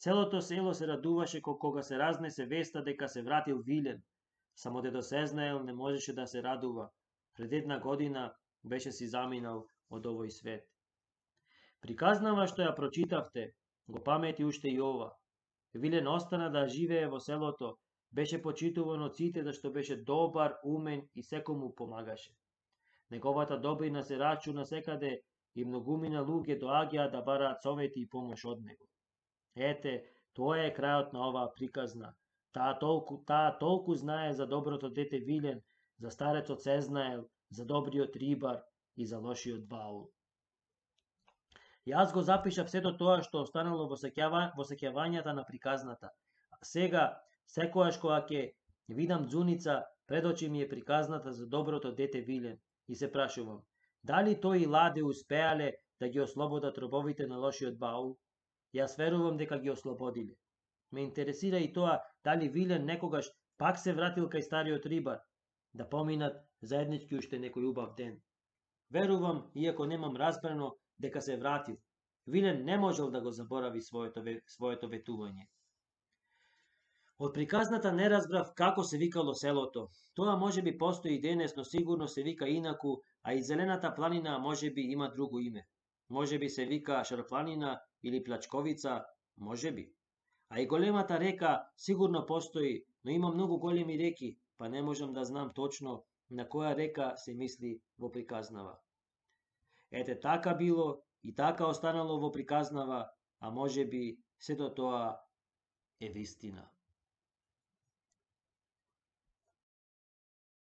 Целото село се радуваше кога се разнесе веста дека се вратил Вилен. Само дедо Сезнаел не можеше да се радува. Пред една година беше си заминал од овој свет. Приказнава што ја прочитавте, го памети уште и ова. Вилен остана да живее во селото, беше почитуван од сите зашто беше добар, умен и секому помагаше. Неговата добрина се рачуна секаде и многумина луѓе доаѓаа да бараат совети и помош од него. Ете, тоа е крајот на оваа приказна. Таа толку, таа толку знае за доброто дете Вилен, за старецот Сезнаел, за добриот рибар и за лошиот Баул. Јас го запишав сето тоа што останало во сеќава, во сеќавањата на приказната. Сега Секојаш кога ќе видам Дзуница, пред очи ми е приказната за доброто дете Вилен и се прашувам, дали тој и Ладе успеале да ги ослободат робовите на лошиот баул? Јас верувам дека ги ослободиле. Ме интересира и тоа дали Вилен некогаш пак се вратил кај стариот рибар, да поминат заеднички уште некој убав ден. Верувам, иако немам разбрано, дека се вратил. Вилен не можел да го заборави своето, своето ветување. Од приказната не разбрав како се викало селото. Тоа може би постои и денес, но сигурно се вика инаку, а и Зелената планина може би има друго име. Може би се вика Шарпланина или Плачковица, може би. А и големата река сигурно постои, но има многу големи реки, па не можам да знам точно на која река се мисли во приказнава. Ете така било и така останало во приказнава, а може би сето тоа е вистина.